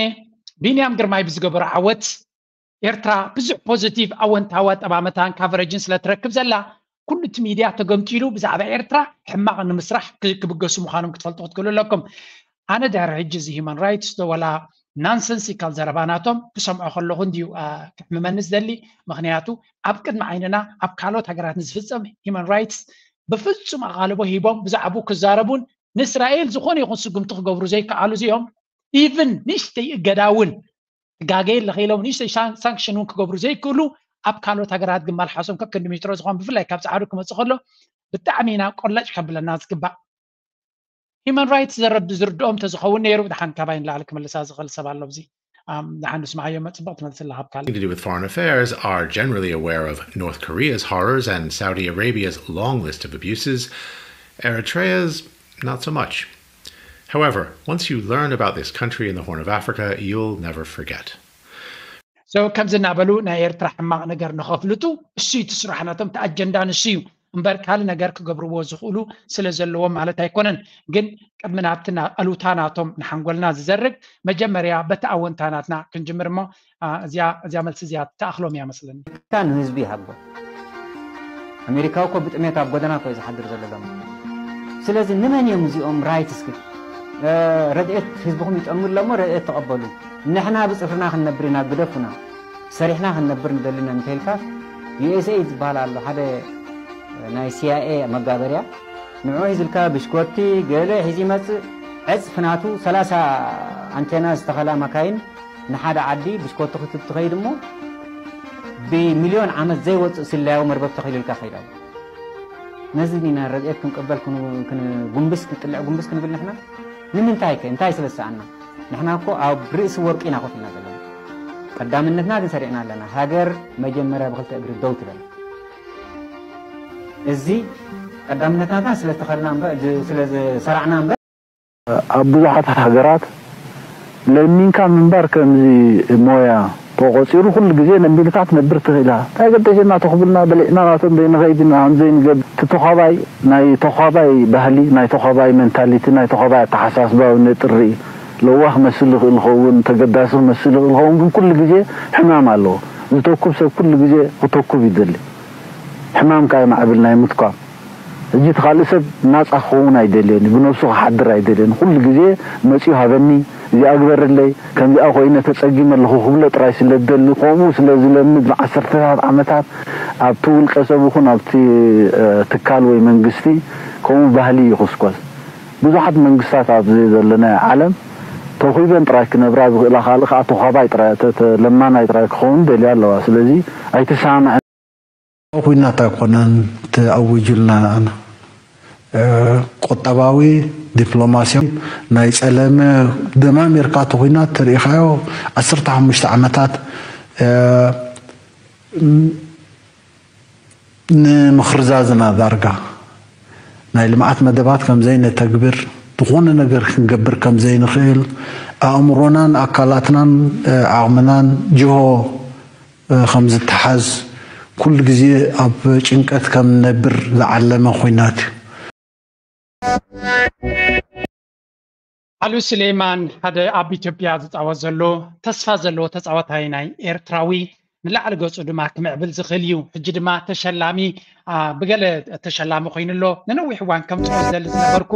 ቢንያም ግርማይ ብዝገበሮ ዓወት ኤርትራ ብዙሕ ፖዚቲቭ ኣወንታዊ ኣጠማመታን ካቨሬጅን ስለ ትረክብ ዘላ ኩሉ እቲ ሚድያ ተገምጢሉ ብዛዕባ ኤርትራ ሕማቕ ንምስራሕ ክብገሱ ምዃኖም ክትፈልጡ ክትክእሉ ኣለኩም። ኣነ ድሕሪ ሕጂ እዚ ሂማን ራይትስ ዶ ወላ ናንሰንሲካል ዘረባ ናቶም ክሰምዖ ከለኹ እንድዩ ክሕምመኒ ዝደሊ። ምክንያቱ ኣብ ቅድሚ ዓይንና ኣብ ካልኦት ሃገራት ንዝፍፀም ሂማን ራይትስ ብፍፁም ኣቓልቦ ሂቦም ብዛዕባኡ ክዛረቡን ንእስራኤል ዝኾነ ይኹን ስጉምቲ ክገብሩ ዘይከኣሉ እዚኦም ኢቭን ንእሽተይ እገዳ እውን ትጋገየ ኣለኺ ኢሎም ንእሽተይ ሳንክሽን እውን ክገብሩ ዘይክእሉ ኣብ ካልኦት ሃገራት ግን መልሓሶም ከክንዲ ሜትሮ ዝኾን ብፍላይ ካብ ፃዕዱ ክመፅእ ከሎ ብጣዕሚ ኢና ቆላጭ ከብለና ዝግባእ። ሂማን ራይትስ ዘረብ ዝርድኦም ተዝኸውን ነይሩ ድሓን ካባይ ንላዕሊ ክመልሳ ዝኽእል ሰብ ኣሎ ኣብዚ ድሓን ንስማዓዮ መፅበቕ ትመልስላ ካብ ካልእ to do with foreign affairs are generally aware of North Korea's horrors and Saudi Arabia's long list of abuses. Eritrea's not so much. However, once you learn about this country in the Horn of Africa, you'll never forget. So ከምዚ እናበሉ ናይ ኤርትራ ሕማቕ ነገር ንኸፍልጡ እሱ እዩ እቲ ስራሕ ናቶም እቲ ኣጀንዳ ንሱ እዩ እምበር ካልእ ነገር ክገብርዎ ዝኽእሉ ስለ ዘለዎም ማለት ኣይኮነን። ግን ቅድሚ ናብቲ ኣሉታ ናቶም ንሓንጎልና ዝዘርግ መጀመርያ በቲ ኣወንታ ናትና ክንጅምር እሞ እዚኣ እዚኣ መልሲ እዚኣ ትኣኽሎም እያ መስለኒ። ካ ንህዝቢ ይሃቦ ኣሜሪካዊ እኮ ብጥሜት ኣብ ጎደና እኮ እዩ ዝሓድር ዘሎ ሎም ስለዚ ንመን እዮም እዚኦም ራይትስ ግን ረድኤት ህዝብኹም ይጠልሙ ኣለሞ ረድኤት ተቐበሉ ንሕና ብፅፍርና ክንነብር ኢና ግደፉና ሰሪሕና ክንነብር ንደሊ ኢና እንተኢልካ ዩኤስኤ ዝበሃል ኣሎ ሓደ ናይ ሲኣይኤ መጋበርያ ንዑ ሒዝልካ ብሽኮቲ ገለ ሒዙ ይመፅእ ዕፅፊ ናቱ ሰላሳ ኣንቴና ዝተኸላ መካይን ንሓደ ዓዲ ብሽኮቲ ክትብ ትኸይድ እሞ ብሚልዮን ዓመት ዘይወፅእ ስለያዊ መርበብ ተኺሉልካ ከይድ ኣሎ ነዚ ዲና ረድኤት ክንቅበል ጉንብስ ክንጥልዕ ጉንብስ ክንብል ንሕና ንምንታይ ከ እንታይ ስለ ዝሰኣና ንሕና እኮ ኣብ ርእሲ ወርቂ ኢና ኮፍ ኢልና ዘለና ቀዳምነትና ግን ሰሪዕና ኣለና ሃገር መጀመርያ ብክልተ እግሪ ደው ትበል እዚ ቀዳምነትና ስለዝተኸልና ስለዝሰራዕና እምበር ኣብ ብዙሓት ሃገራት ለሚንካ ምንባር ከምዚ ሞያ ተቖጺሩ ኩሉ ግዜ ለሚንካ ትነብር ትኽእል ኢኻ። እንታይ ገደሸና ተኹብልና በሊዕና ናቶም ዘይንኸይድ ኢና ከም ዘይንገብር እቲ ተዃባይ ናይ ተዃባይ ባህሊ ናይ ተዃባይ መንታሊቲ ናይ ተዃባይ ኣተሓሳስባ እውን ነጥሪ ለዋህ ክመስል ይኽእል ይኸውን ተገዳሲ ክመስል ይኽእል ይኸውን ግን ኩሉ ግዜ ሕማም ኣለዎ። ዝተኩብ ሰብ ኩሉ ግዜ ክተኩብ ይደሊ። ሕማም ከኣ የማዕብል ናይ ምትኳብ። ሕጂ እቲ ካልእ ሰብ ናጻ ክኸውን ኣይደልዮን እዩ፣ ብነብሱ ክሓድር ኣይደልዮን። ኩሉ ግዜ መጺኡ ሃበኒ፣ እዚኣ ግበርለይ፣ ከምዚኣ ኮይነ ተጸጊመ ኣለኹ ክብሎ ጥራይ ስለ ዝደሊ፣ ከምኡ ስለ ዝለምድ ንዓሰርተታት ዓመታት ኣብቲ ውልቀ ሰብ ይኹን ኣብቲ ትካል ወይ መንግስቲ ከምኡ ባህሊ ይኹስኮስ። ብዙሓት መንግስታት ኣብዚ ዘለናዮ ዓለም ተኺበን ጥራይ ክነብራ ዝኽእላ ካልእ ከዓ ተዃባይ ጥራይ ለማናይ ጥራይ ክኸውን ደልያ ኣለዋ። ስለዚ ኣይተሰማምዐን። ኩናት ኣይኮነን ተኣዊጁልና ቁጠባዊ ዲፕሎማሲያዊ ናይ ጸለመ ደማሚርካ እቲ ኩናት ተሪኢኻዮ ዓሰርተ ሓሙሽተ ዓመታት ንምኽርዛዝና ዳርጋ ናይ ልምዓት መደባት ከም ዘይነተግብር፣ ዝኾነ ነገር ክንገብር ከም ዘይንኽእል፣ ኣእምሮናን ኣካላትናን ዓቕምናን ጅሆ ከም ዝተሓዝ፣ ኩሉ ግዜ ኣብ ጭንቀት ከም ንነብር ዝዓለመ ኹናት እዩ። ዓሉ ስሌማን ሓደ ኣብ ኢትዮጵያ ዝፃወት ዘሎ ተስፋ ዘለዎ ተፃዋታይ ናይ ኤርትራዊ ንላዕሊ ገፁ ድማ ክምዕብል ዝኽእል እዩ። ሕጂ ድማ ተሸላሚ ብገለ ተሸላሚ ኮይኑ ኣሎ። ንነዊሕ እዋን ከምፅኦ ዝደሊ ዝነበርኩ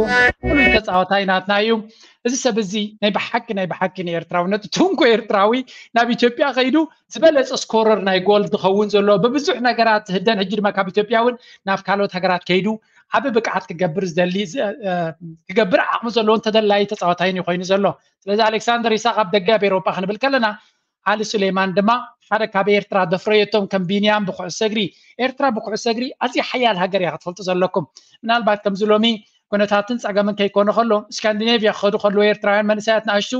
ፍሉይ ተፃዋታይ ናትና እዩ። እዚ ሰብ እዚ ናይ ብሓቂ ናይ ብሓቂ ንኤርትራውነቱ ትንኮ ኤርትራዊ ናብ ኢትዮጵያ ከይዱ ዝበለፀ ስኮረር ናይ ጎል ዝኸውን ዘሎ ብብዙሕ ነገራት ዝህደን ሕጂ ድማ ካብ ኢትዮጵያ እውን ናብ ካልኦት ሃገራት ከይዱ ዓቢ ብቅዓት ክገብር ዝደሊ ክገብር ዓቕሚ ዘለዎን ተደላዪ ተፃዋታይን እዩ ኮይኑ ዘሎ። ስለዚ ኣሌክሳንደር ይስሐቅ ኣብ ደገ ኣብ ኤሮጳ ክንብል ከለና ዓሊ ሱሌማን ድማ ሓደ ካብ ኤርትራ ዘፍረየቶም ከም ቢንያም ብኩዕሶ እግሪ ኤርትራ ብኩዕሶ እግሪ ኣዝያ ሓያል ሃገር እያ ክትፈልጡ ዘለኩም። ምናልባት ከምዚ ሎሚ ኩነታትን ጸገምን ከይኮነ ከሎ ስካንዲኔቭያ ክኸዱ ከለዉ ኤርትራውያን መንእሰያት ንኣሽቱ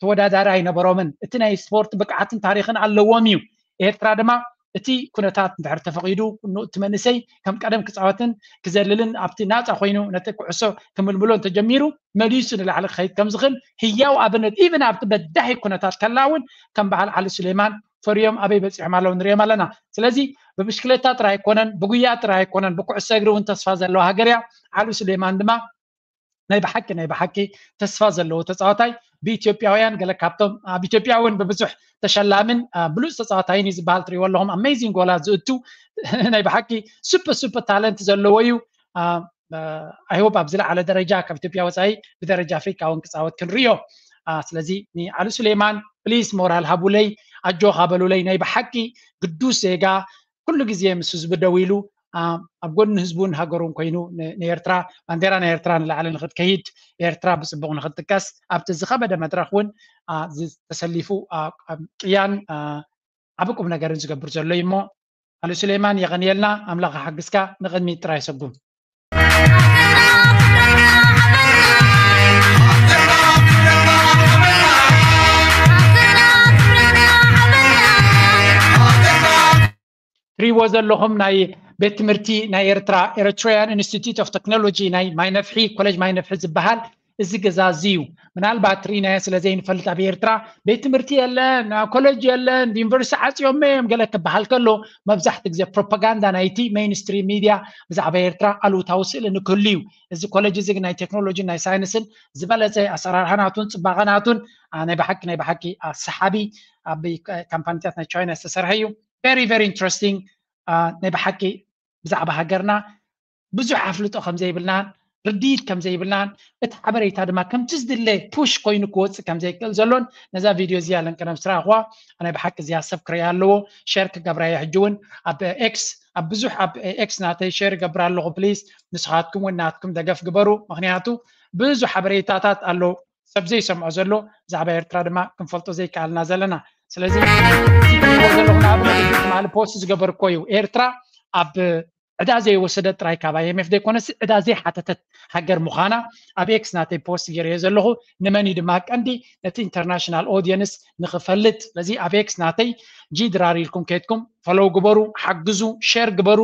ተወዳዳሪ ኣይነበሮምን። እቲ ናይ ስፖርት ብቅዓትን ታሪኽን ኣለዎም እዩ። ኤርትራ ድማ እቲ ኩነታት እንድሕር ተፈቒዱ እቲ መንእሰይ ከም ቀደም ክጻወትን ክዘልልን ኣብቲ ናጻ ኮይኑ ነቲ ኩዕሶ ክምልምሎ እንተጀሚሩ መሊሱ ንላዕሊ ክኸይድ ከም ዝኽእል ህያው ኣብነት even ኣብቲ በዳሂ ኩነታት ከላ እውን ከም በዓል ዓሊ ሱሌማን ፈርዮም ኣበይ በጺሖም ኣለዉ ንሪኦም ኣለና። ስለዚ ብብሽክሌታ ጥራይ ኣይኮነን፣ ብጉያ ጥራይ ኣይኮነን፣ ብኩዕሶ እግሪ እውን ተስፋ ዘለዋ ሃገር እያ። ዓሊ ሱሌማን ድማ ናይ ብሓቂ ናይ ብሓቂ ተስፋ ዘለዎ ተፃዋታይ ብኢትዮጵያውያን ገለ ካብቶም ኣብ ኢትዮጵያ እውን ብብዙሕ ተሸላምን ብሉፅ ተፃዋታይን እዩ ዝበሃል ትሪእዎ ኣለኹም ኣሜዚንግ ጎላት ዝእቱ ናይ ብሓቂ ሱፐር ሱፐር ታለንት ዘለዎ እዩ። ኣይሆፕ ኣብ ዝለዓለ ደረጃ ካብ ኢትዮጵያ ወፃኢ ብደረጃ ኣፍሪካ እውን ክፃወት ክንሪዮ። ስለዚ ንዓሊ ሱሌማን ፕሊስ ሞራል ሃቡለይ ኣጆኻ በሉለይ ናይ ብሓቂ ግዱስ ዜጋ ኩሉ ግዜ ምስ ህዝቡ ደው ኢሉ ኣብ ጎኒ ህዝቡን ሃገሩን ኮይኑ ንኤርትራ ባንዴራ ናይ ኤርትራ ንላዕሊ ንክትከይድ ኤርትራ ብፅቡቅ ንክትጥቀስ ኣብቲ ዝኸበደ መድረክ እውን ተሰሊፉ ቅያን ዓቢ ቁም ነገርን ዝገብር ዘሎ እዩ እሞ ኣሉ ሱሌማን የቐንየልና ኣምላኽ ሓግዝካ ንቅድሚት ጥራይ ሰጉም ትሪእዎ ዘለኹም ናይ ቤት ትምህርቲ ናይ ኤርትራ Eritrean Institute of Technology ናይ ማይነፍሒ ኮሌጅ ማይነፍሒ ዝበሃል እዚ ገዛ እዚ እዩ። ምናልባት ርኢናዮ ስለ ዘይንፈልጥ ኣብ ኤርትራ ቤት ትምህርቲ የለን፣ ኮሌጅ የለን፣ ዩኒቨርሲቲ ዓፅዮም እዮም ገለ ክበሃል ከሎ መብዛሕቲ ግዜ ፕሮፓጋንዳ ናይቲ ሜይንስትሪም ሚድያ ብዛዕባ ኤርትራ ኣሉታዊ ስእሊ ንክህሉ እዩ። እዚ ኮሌጅ እዚ ግን ናይ ቴክኖሎጂን ናይ ሳይንስን ዝበለፀ ኣሰራርሓ ናቱን ፅባቐ ናቱን ናይ ብሓቂ ናይ ብሓቂ ሰሓቢ ኣብ ካምፓኒታት ናይ ቻይና ዝተሰርሐ እዩ። very very interesting ናይ ብሓቂ ብዛዕባ ሃገርና ብዙሕ ኣፍልጦ ከም ዘይብልናን ርድኢት ከም ዘይብልናን እቲ ሓበሬታ ድማ ከምቲ ዝድለ ፑሽ ኮይኑ ክወፅእ ከም ዘይክእል ዘሎን ነዛ ቪድዮ እዚኣ ለንቀደም ስራሕዋ ናይ ብሓቂ እዚኣ ሰብ ክረያ ኣለዎ ሸር ክገብራ እየ ሕጂ እውን ኣብ ኤክስ ኣብ ብዙሕ ኣብ ኤክስ ናተይ ሸር ይገብር ኣለኹ ፕሊዝ ንስኻትኩም እውን ናትኩም ደገፍ ግበሩ ምክንያቱ ብዙሕ ሓበሬታታት ኣሎ ሰብ ዘይሰምዖ ዘሎ ብዛዕባ ኤርትራ ድማ ክንፈልጦ ዘይከኣልና ዘለና ስለዚ ዘለኹ ንኣብነት ትማሊ ፖስት ዝገበርኮ እዩ ኤርትራ ኣብ ዕዳ ዘይወሰደት ጥራይ ካብ ኣይኤምኤፍ ዘይኮነስ ዕዳ ዘይሓተተት ሃገር ምዃና ኣብ ኤክስ ናተይ ፖስት ገይረዮ ዘለኹ ንመን እዩ ድማ ቀንዲ ነቲ ኢንተርናሽናል ኦዲየንስ ንኽፈልጥ ስለዚ ኣብ ኤክስ ናተይ ጂ ድራር ኢልኩም ከይድኩም ፈሎው ግበሩ ሓግዙ ሸር ግበሩ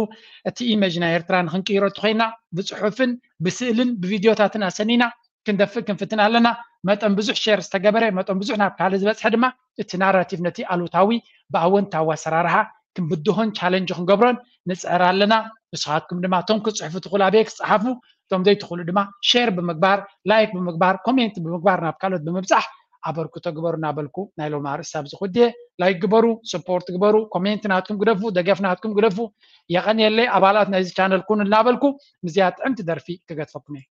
እቲ ኢመጅ ናይ ኤርትራ ንክንቅይሮ ተኮይና ብፅሑፍን ብስእልን ብቪድዮታትን ኣሰኒና ክንደፍእ ክንፍትን ኣለና መጠን ብዙሕ ሸር ዝተገበረ መጠን ብዙሕ ናብ ካልእ ዝበፅሐ ድማ እቲ ናራቲቭ ነቲ ኣሉታዊ ብኣወንታዊ ኣሰራርሓ ክንብድሆን ቻለንጅ ክንገብሮን ንፅዕር ኣለና ንስኻትኩም ድማ እቶም ክፅሕፉ ትኽእሉ ኣበየ ክፅሓፉ እቶም ዘይትኽእሉ ድማ ሼር ብምግባር ላይክ ብምግባር ኮሜንት ብምግባር ናብ ካልኦት ብምብፃሕ ኣበርክቶ ግበሩ እናበልኩ ናይ ሎም ኣርእስቲ ኣብዚ ኩድየ ላይክ ግበሩ ሰፖርት ግበሩ ኮሜንት ናትኩም ግደፉ ደገፍ ናትኩም ግደፉ የቐንየለይ ኣባላት ናይዚ ቻነል ኩኑ እናበልኩ ምዚኣ ጥዕምቲ ደርፊ ክገድፈኩም እየ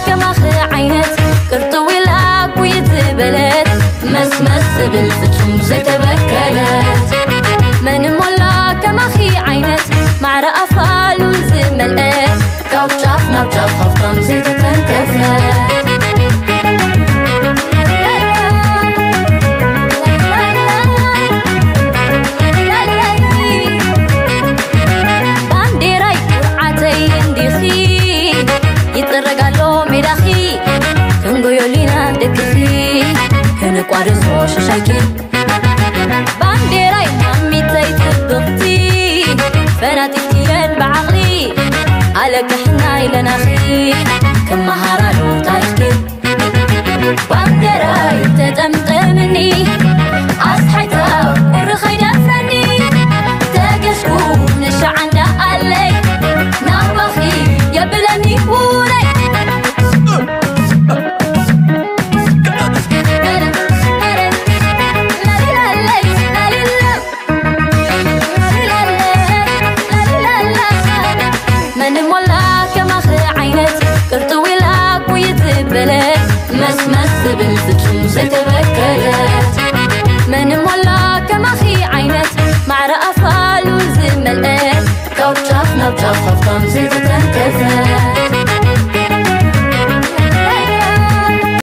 ከማኺ ዓይነት ቅርጥው ኢላ ኩይት ዝበለት መስመስ ዝብል ፍጹም ዘይተበከለት መን ሞላ ከማኺ ዓይነት ማዕረ ኣፋሉ ዝመልአ ካብ ጫፍ ናብ ጫፍ ሃፍታም ዘይተተንከፈ ባንዴራይ ኩርዓተይ እንዲኺ ይጥረግ ኣሎ ሜዳኺ ክንጎዮሊና ደቅኺ ከነቋርጾ ሽሻይኪ ባንዴራይ ማሚተይ ትብ ፈናጢትየን ብዓቕሊ ኣለቅሕና ኢለናኺ ክመሃራሉ ታሪኽኪ ባንዴራይ ተጠምጠምኒ ኣስሓይታ ቁሪ ኸይደፍረኒ ተገሽኩ ንሻዓንዳ ኣለይ ናባኺ የብለኒ ውለይ መን ሞላ ከማኺ ዓይነት ቅርጥው ኢላ ጉይት ዝበለ መስመስ ዝብል ፍጹም ዘይተበከለ